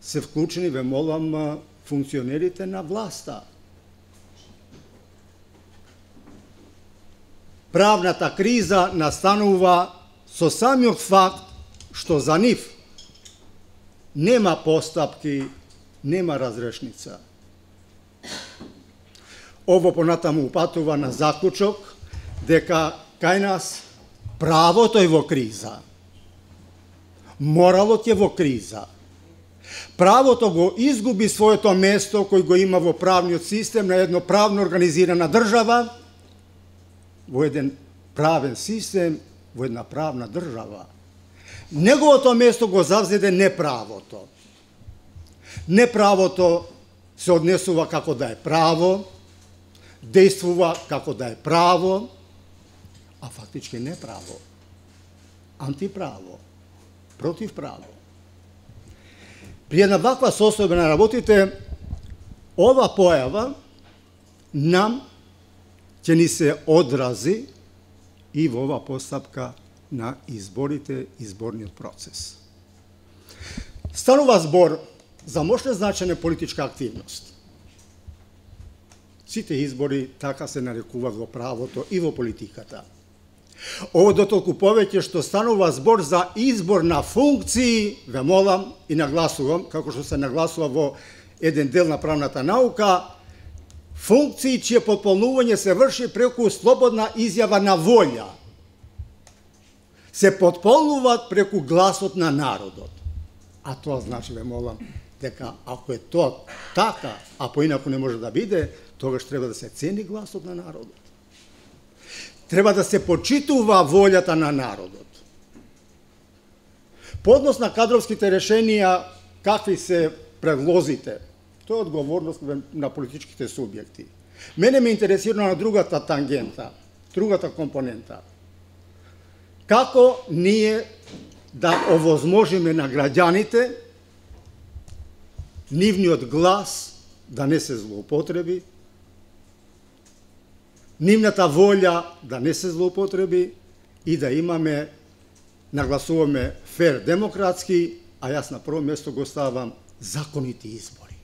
се вклучени, ве молам, функционерите на власта. Правната криза настанува со самиот факт што за нив нема постапки, нема разрешница. Ово понатаму упатува на заклучок дека кај нас правото е во криза, моралот е во криза. Правото го изгуби своето место кој го има во правниот систем на едно правно организирана држава, во еден правен систем, во една правна држава. Неговото место го завзеде неправото. Неправото се однесува како да е право, действува како да е право, а фактички не право, антиправо, противправо. При една ваква состојба на работите, ова појава нам ќе ни се одрази и во ова постапка на изборите, изборниот процес. Станува збор за мощна значајна политичка активност. Сите избори така се нарекуваат во правото и во политиката. Ово дотолку повеќе што станува збор за избор на функции, ве молам и нагласувам, како што се нагласува во еден дел на правната наука, функции чие потполнување се врши преку слободна изјава на волја. Се потполнуваат преку гласот на народот. А тоа значи, ве молам, дека ако е тоа така, а поинаку не може да биде, тогаш треба да се цени гласот на народот. Треба да се почитува волјата на народот. По однос на кадровските решенија, какви се предлозите, тоа е одговорност на политичките субјекти. Мене ме интересира на другата тангента, другата компонента. Како ние да овозможиме на граѓаните нивниот глас да не се злоупотреби, нивната волја да не се злоупотреби и да имаме, нагласуваме фер демократски, а јас на прво место го ставам законити избори.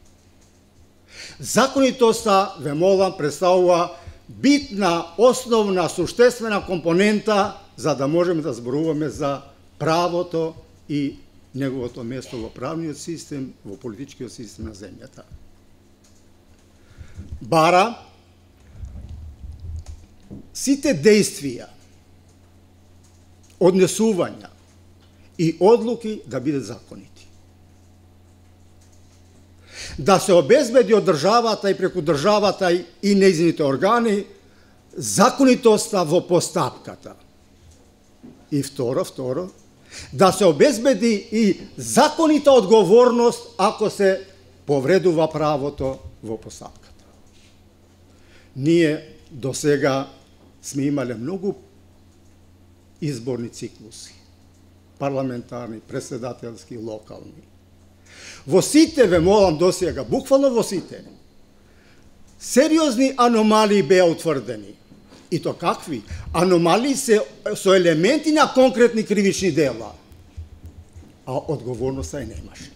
Законитоста, ве молам, представува битна, основна, суштествена компонента за да можеме да зборуваме за правото и неговото место во правниот систем, во политичкиот систем на земјата. Бара сите действија, однесувања и одлуки да бидат законити. Да се обезбеди од државата и преку државата и нејзините органи законитоста во постапката. И второ, да се обезбеди и законита одговорност ако се повредува правото во постапката. Ние до сега сме имале многу изборни циклуси, парламентарни, председателски, локални. Во сите, ве молам до сега, буквално во сите, сериозни аномалии беа утврдени. И то какви? Аномалии се со елементи на конкретни кривични дела. А одговорноста немаше.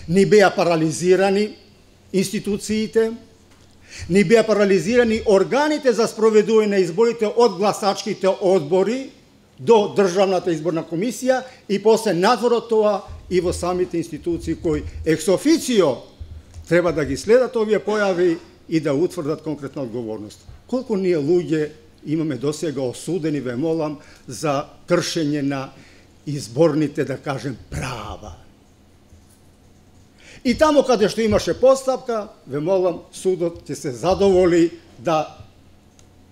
Ни беа парализирани институциите, ни беа парализирани органите за спроведување на изборите од гласачките одбори до Државната изборна комисија и после надвор од тоа и во самите институции кои екс официо треба да ги следат овие појави и да утврдат конкретна одговорност. Колку ние луѓе имаме досега осудени, ве молам, за кршење на изборните, да кажем, права. И тамо каде што имаше постапка, ве молам, судот ќе се задоволи да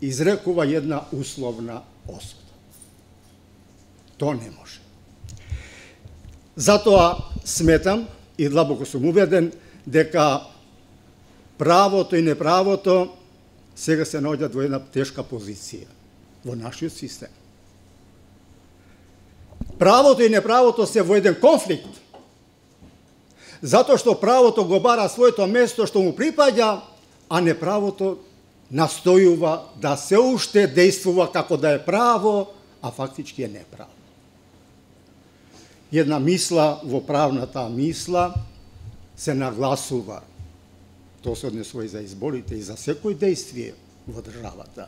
изрекува една условна осуда. То не може. Затоа сметам и длабоко сум убеден дека правото и неправото сега се наоѓаат во една тешка позиција во нашиот систем. Правото и неправото се во еден конфликт, затоа што правото го бара своето место што му припаѓа, а неправото настојува да се уште действува како да е право, а фактички е неправо. Една мисла во правната мисла се нагласува. Тоа се однесува и за изборите, и за секој действие во државата.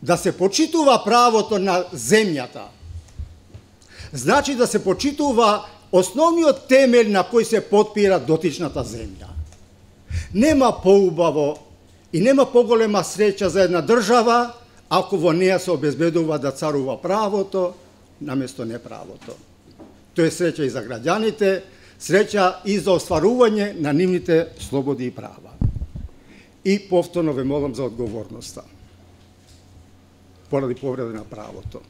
Да се почитува правото на земјата, значи да се почитува основниот темел на кој се потпира дотичната земја. Нема поубаво и нема поголема среќа за една држава ако во неја се обезбедува да царува правото наместо неправото. Тоа е среќа и за граѓаните, среќа и за остварување на нивните слободи и права. И повторно ве молам за одговорноста поради повреда на правото.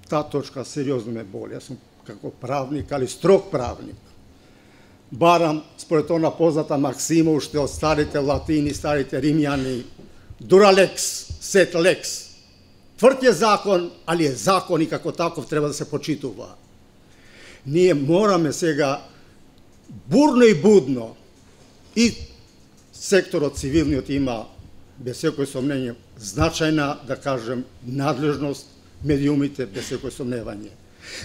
Таа точка сериозно ме боли. Јас сум како правник, али строг правник. Барам според она позната максима уште од старите латини, старите римјани, дура лекс, сет лекс. Тврд е закон, али е закон и како таков треба да се почитува. Ние мораме сега бурно и будно и секторот цивилниот има без секој сомнење значајна, да кажем, надлежност, медиумите без секој сомневање.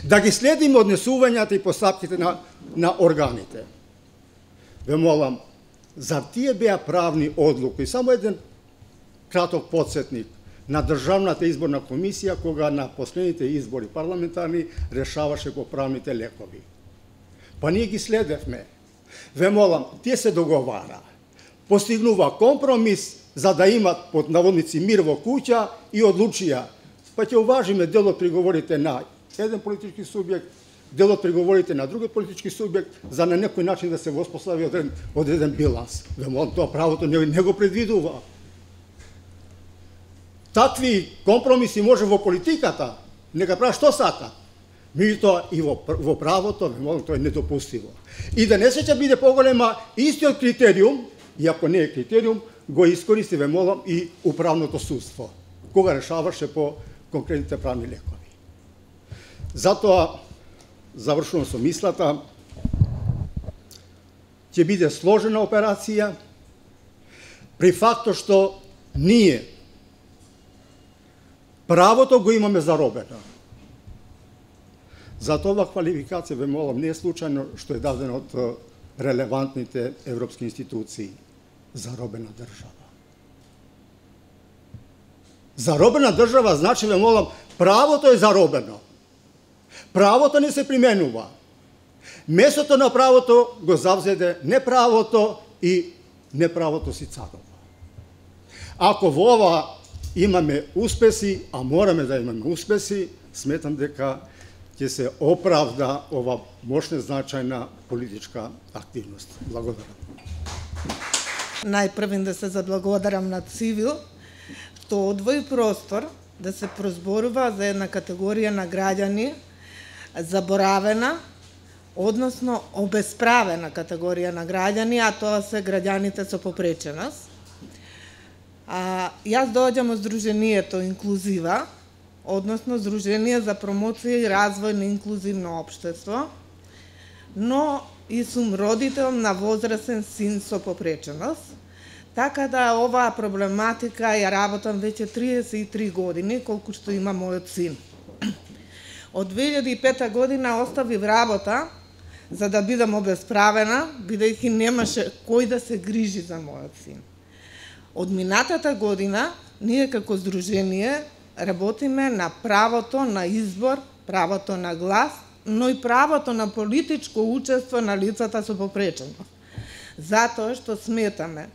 Да ги следиме однесувањата и постапките на органите. Ве молам, зар тие беа правни одлуки? Само еден краток подсетник на Државната изборна комисија кога на последните избори парламентарни решаваше по правните лекови. Па ние ги следевме. Ве молам, тие се договара. Постигнува компромис за да имат под наводници мир во куќа и одлучија. Па ќе уважиме дел од приговорите на еден политички субјект, дел од приговорите на друг политички субјект, за на некој начин да се воспостави одреден биланс. Ве молам, тоа правото не го предвидува. Такви компромиси може во политиката, нека прави што сака. Меѓутоа и во правото, ве молам, тоа е недопустиво. И да не се ќе биде поголема истиот критериум, и ако не е критериум, го искористи, ве молам, и управното судство, кога решаваше по конкретните правни лекови. Затоа, завршувам со мислата, ќе биде сложена операција, при фактот што ние правото го имаме заробено. Затоа ова квалификација, ве молам, не е случајно што е дадено од релевантните европски институции. Заробена држава. Заробена држава значи, ве молам, правото е заробено. Правото не се применува. Месото на правото го завзеде неправото и неправото си царува. Ако во ова имаме успеси, а мораме да имаме успеси, сметам дека ќе се оправда ова мощна значајна политичка активност. Благодарам. Најпрвен да се заблагодарам на Цивил, што одвои простор да се прозборува за една категорија на граѓани заборавена, односно обесправена категорија на граѓани, а тоа се граѓаните со попреченост. Јас доаѓам од Сдруженијето Инклузива, односно Сдружение за промоција и развој на инклузивно општество, но и сум родител на возрастен син со попреченост, така да оваа проблематика ја работам веќе 33 години, колку што има мојот син. Од 2005 година оставив работа за да бидам обесправена, бидејќи немаше кој да се грижи за мојот син. Од минатата година, ние како Сдружение работиме на правото на избор, правото на глас, но и правото на политичко учество на лицата со попреченост. Затоа што сметаме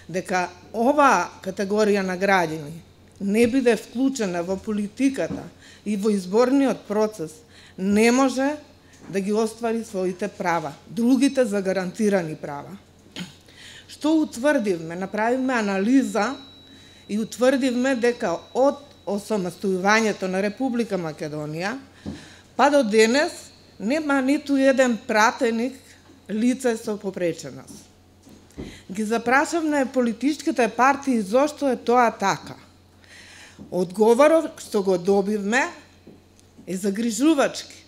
дека оваа категорија на граѓани не биде вклучена во политиката и во изборниот процес, не може да ги оствари своите права, другите загарантирани права. Што утврдивме? Направивме анализа и утврдивме дека од осамостојувањето на Република Македонија па до денес нема ниту еден пратеник лице со попреченост. Ги запрашавме политичките партии зошто е тоа така. Одговорот што го добивме е загрижувачки.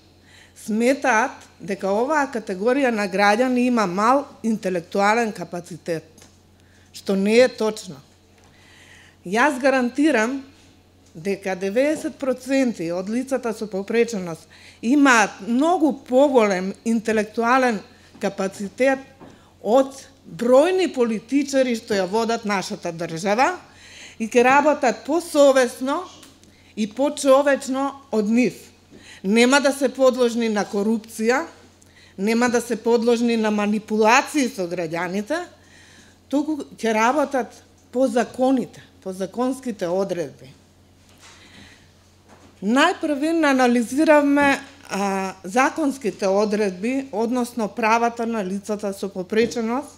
Сметаат дека оваа категорија на граѓани има мал интелектуален капацитет, што не е точно. Јас гарантирам дека 90% од лицата со попреченост имаат многу поголем интелектуален капацитет од бројни политичари што ја водат нашата држава и ќе работат посовесно и почовечно од нив. Нема да се подложни на корупција, нема да се подложни на манипулации со граѓаните, туку ќе работат по законите, по законските одредби. Најпрвен анализиравме законските одредби, односно правата на лицата со попреченост.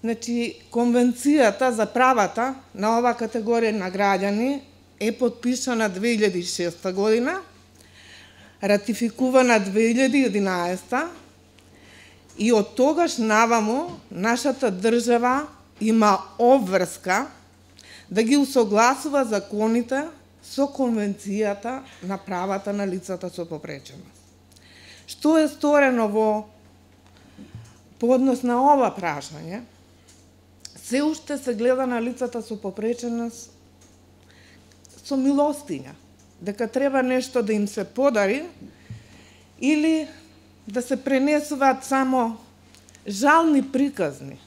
Значи, Конвенцијата за правата на оваа категорија на граѓани е подпишана 2006 година, ратификувана 2011 и од тогаш наваму нашата држава има обврска да ги усогласува законите со Конвенцијата на правата на лицата со попреченост. Што е сторено по однос на ова прашање? Се уште се гледа на лицата со попреченост со милостиња, дека треба нешто да им се подари или да се пренесуваат само жални приказни.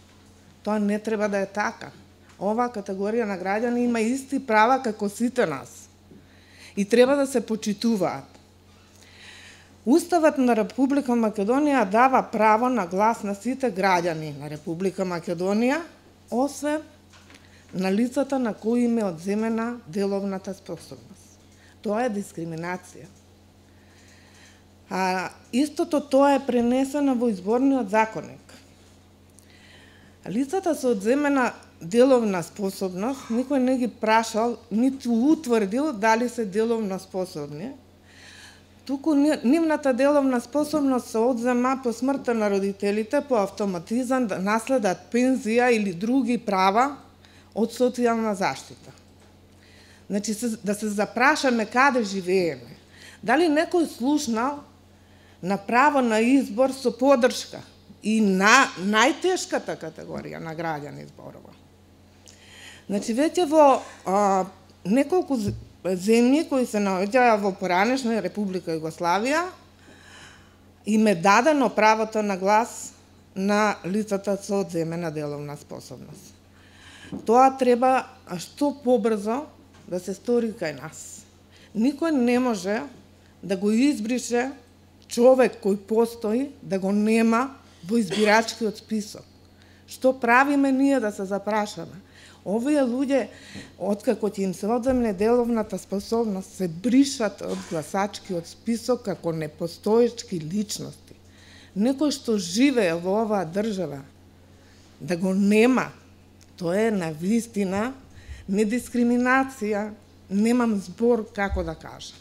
Тоа не треба да е така. Оваа категорија на граѓани има исти права како сите нас и треба да се почитуваат. Уставот на Република Македонија дава право на глас на сите граѓани на Република Македонија, освен на лицата на кои им е одземена деловната способност. Тоа е дискриминација. Истото тоа е пренесено во изборниот законник. Лицата со одземена деловна способност, никој не ги прашал, ниту утврдил дали се деловно способни. Туку нивната деловна способност се одзема по смртта на родителите по автоматизам да наследат пензија или други права од социјална заштита. Значи, да се запрашаме каде живееме. Дали некој слушнал на право на избор со поддршка и на најтешката категорија на граѓани зборува. Значи, веќе во неколку земји кои се наоѓаја во поранешна Република Југославија им е дадено правото на глас на лицата со одземена деловна способност. Тоа треба што побрзо да се стори кај нас. Никој не може да го избрише човек кој постои, да го нема во избирачкиот список. Што правиме ние, да се запрашаме? Овие луѓе, откако ќе им се одземне деловната способност, се бришат од гласачкиот список како непостоечки личности. Некој што живее во оваа држава, да го нема, тоа е навистина недискриминација, немам збор како да кажам.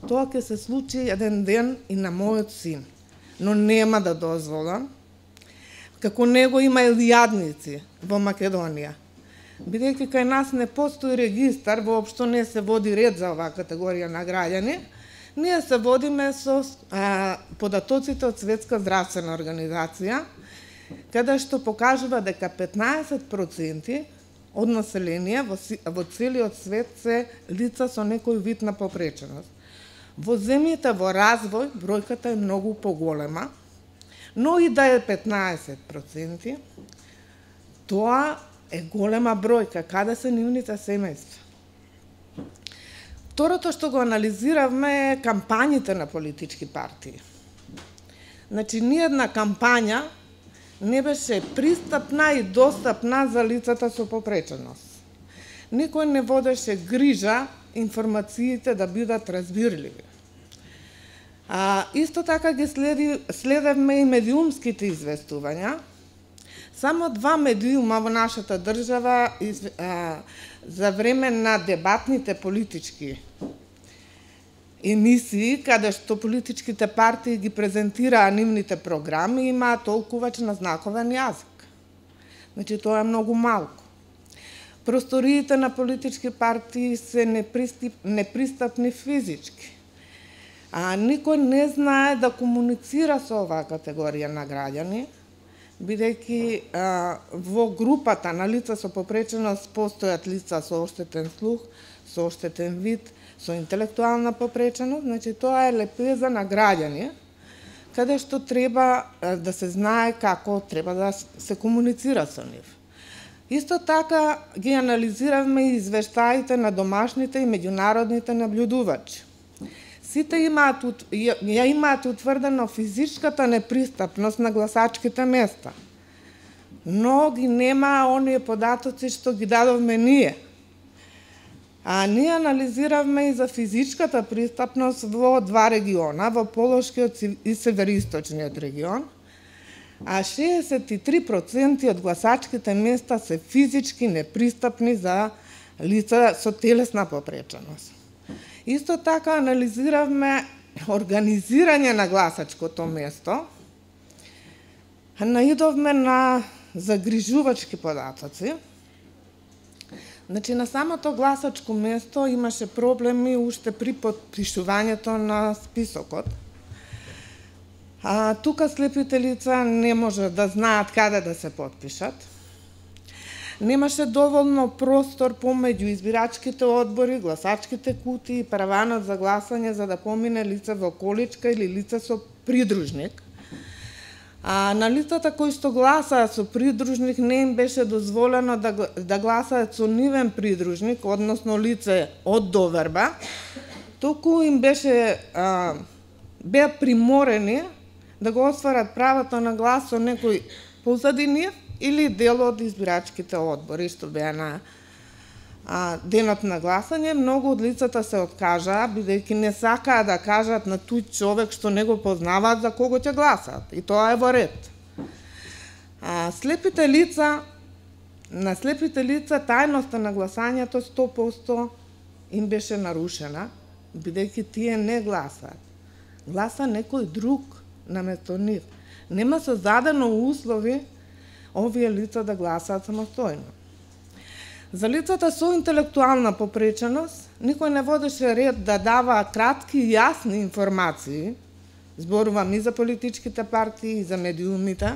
Тоа ќе се случи еден ден и на мојот син, но нема да дозволам. Како него има илијадници во Македонија. Бидејќи кај нас не постои регистар, воопшто не се води ред за оваа категорија на граѓани, ние се водиме со податоците од Светска здравствена организација, каде што покажува дека 15% од население во целиот свет се лица со некој вид на попреченост. Во земјите во развој бројката е многу поголема, но и да е 15%, тоа е голема бројка, каде се нивните семејства. Второто што го анализиравме е кампањите на политички партии. Значи, ниедна кампања не беше пристапна и достапна за лицата со попреченост. Никој не водеше грижа информациите да бидат разбирливи. Исто така ги следевме и медиумските известувања. Само 2 медиума во нашата држава за време на дебатните политички емисии, каде што политичките партии ги презентираа нивните програми, имаа толкувач на знаковен јазик. Значи, тоа е многу малку. Просториите на политички партии се непристапни физички. Никој не знае да комуницира со оваа категорија на граѓани, бидејќи во групата на лица со попреченост постојат лица со оштетен слух, со оштетен вид, со интелектуална попреченост, значи тоа е лепеза на граѓани, каде што треба да се знае како треба да се комуницира со нив. Исто така ги анализиравме и извештаите на домашните и меѓународните наблюдувачи. Сите имаат утврдено физичката непристапност на гласачките места, но ги нема оние податоци што ги дадовме ние. Ние анализиравме и за физичката пристапност во 2 региона, во Полошкиот и Североисточниот регион, 63% од гласачките места се физички непристапни за лица со телесна попреченост. Исто така анализиравме организирање на гласачкото место, наидовме на загрижувачки податоци. Значи, на самото гласачко место имаше проблеми уште при подпишувањето на списокот. Тука слепите лица не може да знаат каде да се подпишат. Немаше доволно простор помеѓу избирачките одбори, гласачките кутии и параванот за гласање за да помине лице во количка или лице со придружник. На лицата кои што гласаат со придружник не им беше дозволено да гласаат со нивен придружник, односно лице од доверба, туку им беа приморени да го остварат правото на глас со некој позади нив или дел од избирачките одбори што беа на денот на гласање. Многу од лицата се откажаа, бидејќи не сакаа да кажат на тој човек што не го познаваат за кого ќе гласаат. И тоа е во ред. На слепите лица тајноста на гласањето 100% им беше нарушена, бидејќи тие не гласаат. Гласа некој друг наместо нив. Нема создадено услови овие лица да гласаат самостојно. За лицата со интелектуална попреченост, никој не водеше ред да дава кратки и јасни информации, зборувам и за политичките партии, и за медиумите,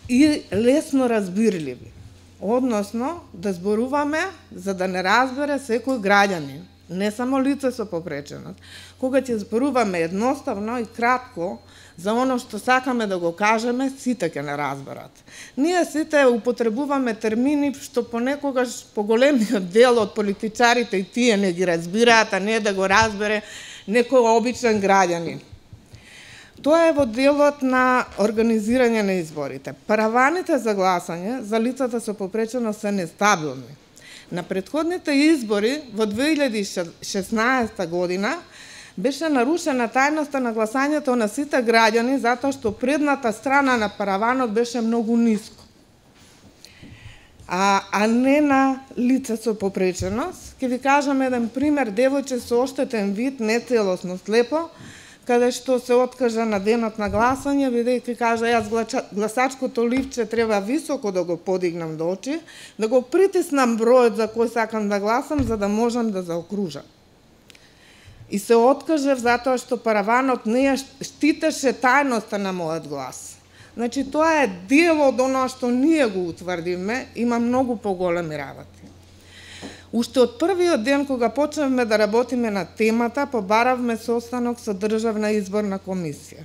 и лесно разбирливи. Односно, да зборуваме за да не разбере секој граѓанин не само лице со попреченост. Кога ќе зборуваме едноставно и кратко за оно што сакаме да го кажеме, сите ќе не разберат. Ние сите употребуваме термини што понекогаш поголемиот дел од политичарите и тие не ги разбираат, а не да го разбере некој обичен граѓанин. Тоа е во делот на организирање на изборите. Параваните за гласање за лицата со попреченост се нестабилни. На претходните избори во 2016 година беше нарушена тајноста на гласањето на сите граѓани затоа што предната страна на параванот беше многу ниско. А не на лице со попреченост. Ќе ви кажам еден пример, девојче со оштетен вид, нецелосно слепо, каде што се откажа на денот на гласање, бидејќи кажа јас гласачкото ливче треба високо да го подигнам до очи, да го притиснам бројот за кој сакам да гласам, за да можам да заокружам. И се откажав затоа што параванот не ја штитеше тајноста на мојот глас. Значи, тоа е дел од оно што ние го утврдиме, има многу поголеми работи. Уште од првиот ден кога почнавме да работиме на темата, побаравме состанок со Државна изборна комисија.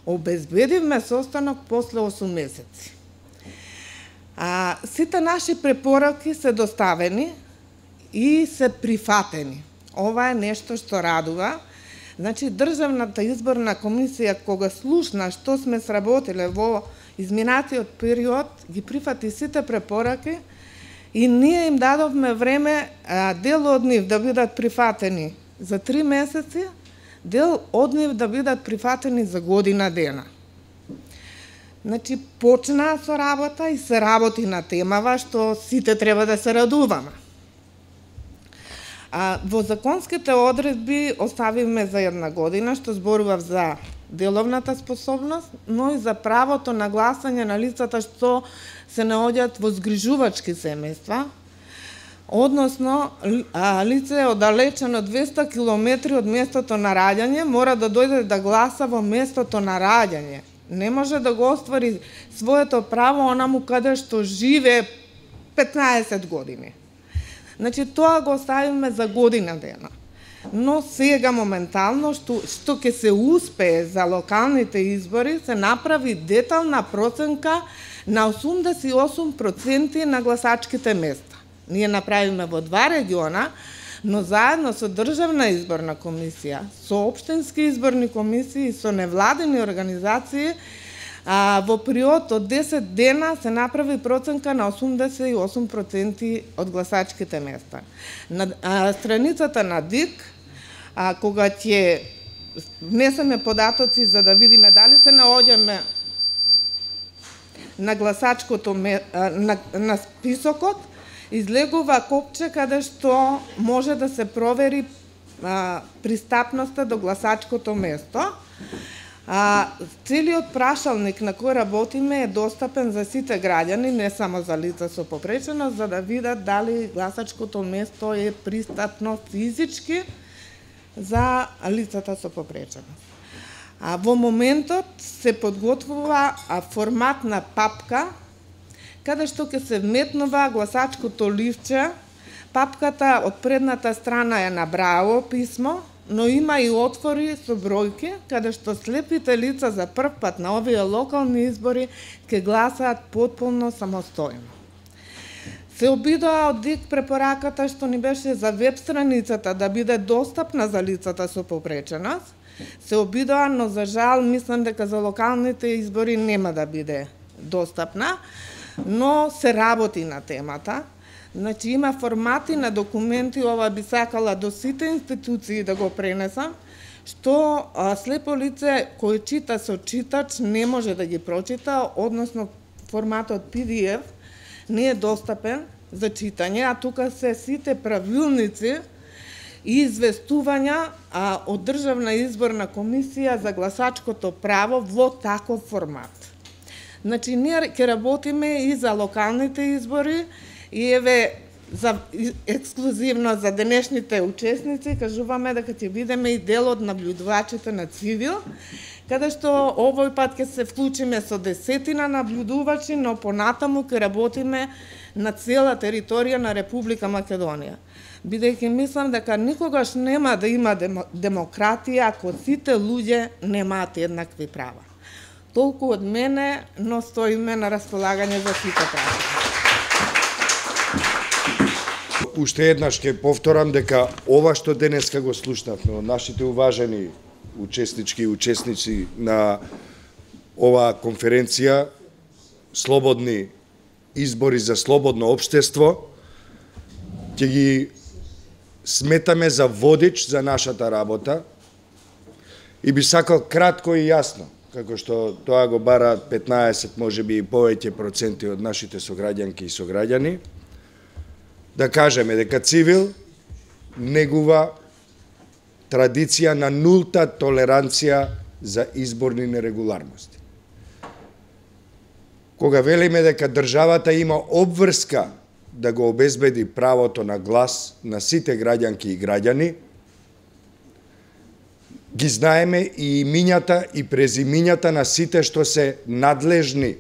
Обезбедивме состанок после 8 месеци. Сите наши препораки се доставени и се прифатени. Ова е нешто што радува. Значи, Државната изборна комисија, кога слушна што сме сработиле во изминатиот период, ги прифати сите препораки и ние им дадовме време дел од нив да бидат прифатени за 3 месеци, дел од нив да бидат прифатени за година дена. Значи, почнаа со работа и се работи на темава што сите треба да се радуваме. Во законските одредби оставивме за 1 година, што зборував за деловната способност, но и за правото на гласање на лицата што се наоѓаат во згрижувачки семејства, односно лице оддалечено 200 километри од местото на раѓање мора да дојде да гласа во местото на раѓање. Не може да го оствари своето право онаму каде што живее 15 години. Значи, тоа го оставиме за година дена. Но сега моментално, што ќе се успее за локалните избори, се направи детална проценка на 88% на гласачките места. Ние направиме во 2 региона, но заедно со Државна изборна комисија, со општински изборни комисии и со невладени организации, во период од 10 дена се направи проценка на 88% од гласачките места. На страницата на ДИК, кога ќе внесеме податоци за да видиме дали се наоѓаме на гласачкото на списокот, излегува копче каде што може да се провери пристапноста до гласачкото место. Целиот прашалник на кој работиме е достапен за сите граѓани, не само за лица со попреченост, за да видат дали гласачкото место е пристапно физички за лицата со попреченост. Во моментот се подготвува форматна папка, каде што ќе се вметнува гласачкото ливче. Папката од предната страна е на браво писмо, но има и отвори со бројки, каде што слепите лица за прв пат на овие локални избори ќе гласаат потполно самостојно. Се обидоа од ДИК препораката што ни беше за веб страницата да биде достапна за лицата со попреченост. Се обидоа, но за жал мислам дека за локалните избори нема да биде достапна, но се работи на темата. Значи, има формати на документи, ова би сакала до сите институции да го пренесам, што слепо лице кој чита со читач не може да ги прочита, односно форматот PDF не е достапен за читање, а тука се сите правилници и известувања од Државна изборна комисија за гласачкото право во таков формат. Значи, ние ќе работиме и за локалните избори, и еве, ексклузивно за денешните учесници, кажуваме дека ќе бидеме и дел од наблюдувачите на Цивил, каде што овој пат ќе се вклучиме со 10 наблюдувачи, но понатаму ќе работиме на цела територија на Република Македонија. Бидејќи мислам дека никогаш нема да има демократија ако сите луѓе немаат еднакви права. Толку од мене, но стоиме на располагање за сите права. Уште еднаш ќе повторам дека ова што денеска го слушнавме од нашите уважени учеснички и учесници на оваа конференција Слободни избори за слободно општество, ќе ги сметаме за водич за нашата работа и би сакал кратко и јасно, како што тоа го бараат 15, можеби и повеќе проценти од нашите сограѓанки и сограѓани, да кажеме дека Цивил негува традиција на нулта толеранција за изборни нерегуларности. Кога велиме дека државата има обврска да го обезбеди правото на глас на сите граѓанки и граѓани, ги знаеме и имињата и презимињата на сите што се надлежни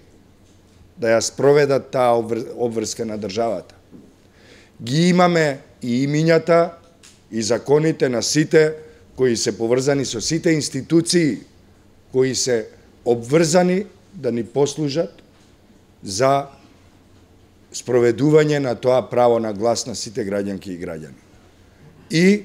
да ја спроведат таа обврска на државата. Ги имаме и имињата и законите на сите кои се поврзани со сите институции кои се обврзани да ни послужат за спроведување на тоа право на глас на сите граѓанки и граѓани. И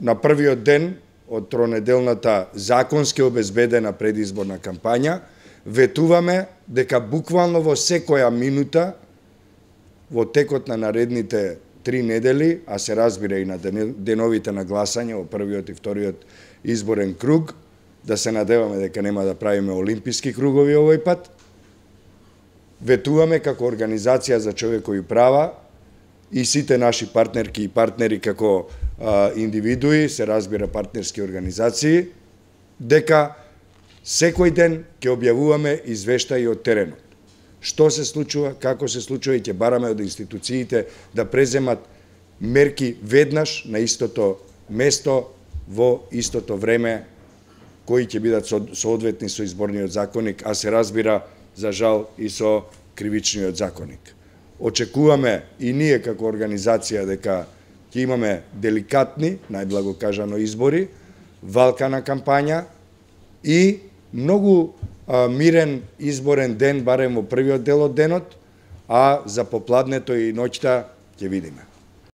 на првиот ден од тронеделната законски обезбедена предизборна кампања ветуваме дека буквално во секоја минута во текот на наредните 3 недели, а се разбира и на деновите на гласање во првиот и вториот изборен круг, да се надеваме дека нема да правиме олимписки кругови овој пат, ветуваме како Организација за човекови права и сите наши партнерки и партнери како индивидуи, се разбира партнерски организации, дека секој ден ќе објавуваме извештаи од теренот. Што се случува, како се случува и ќе бараме од институциите да преземат мерки веднаш на истото место во истото време кои ќе бидат соодветни со изборниот законник, а се разбира за жал и со кривичниот законник. Очекуваме и ние како организација дека ќе имаме деликатни, најблаго кажано, избори, валкана кампања и многу мирен изборен ден, барем во првиот дел од денот, а за попладнето и ноќта ќе видиме.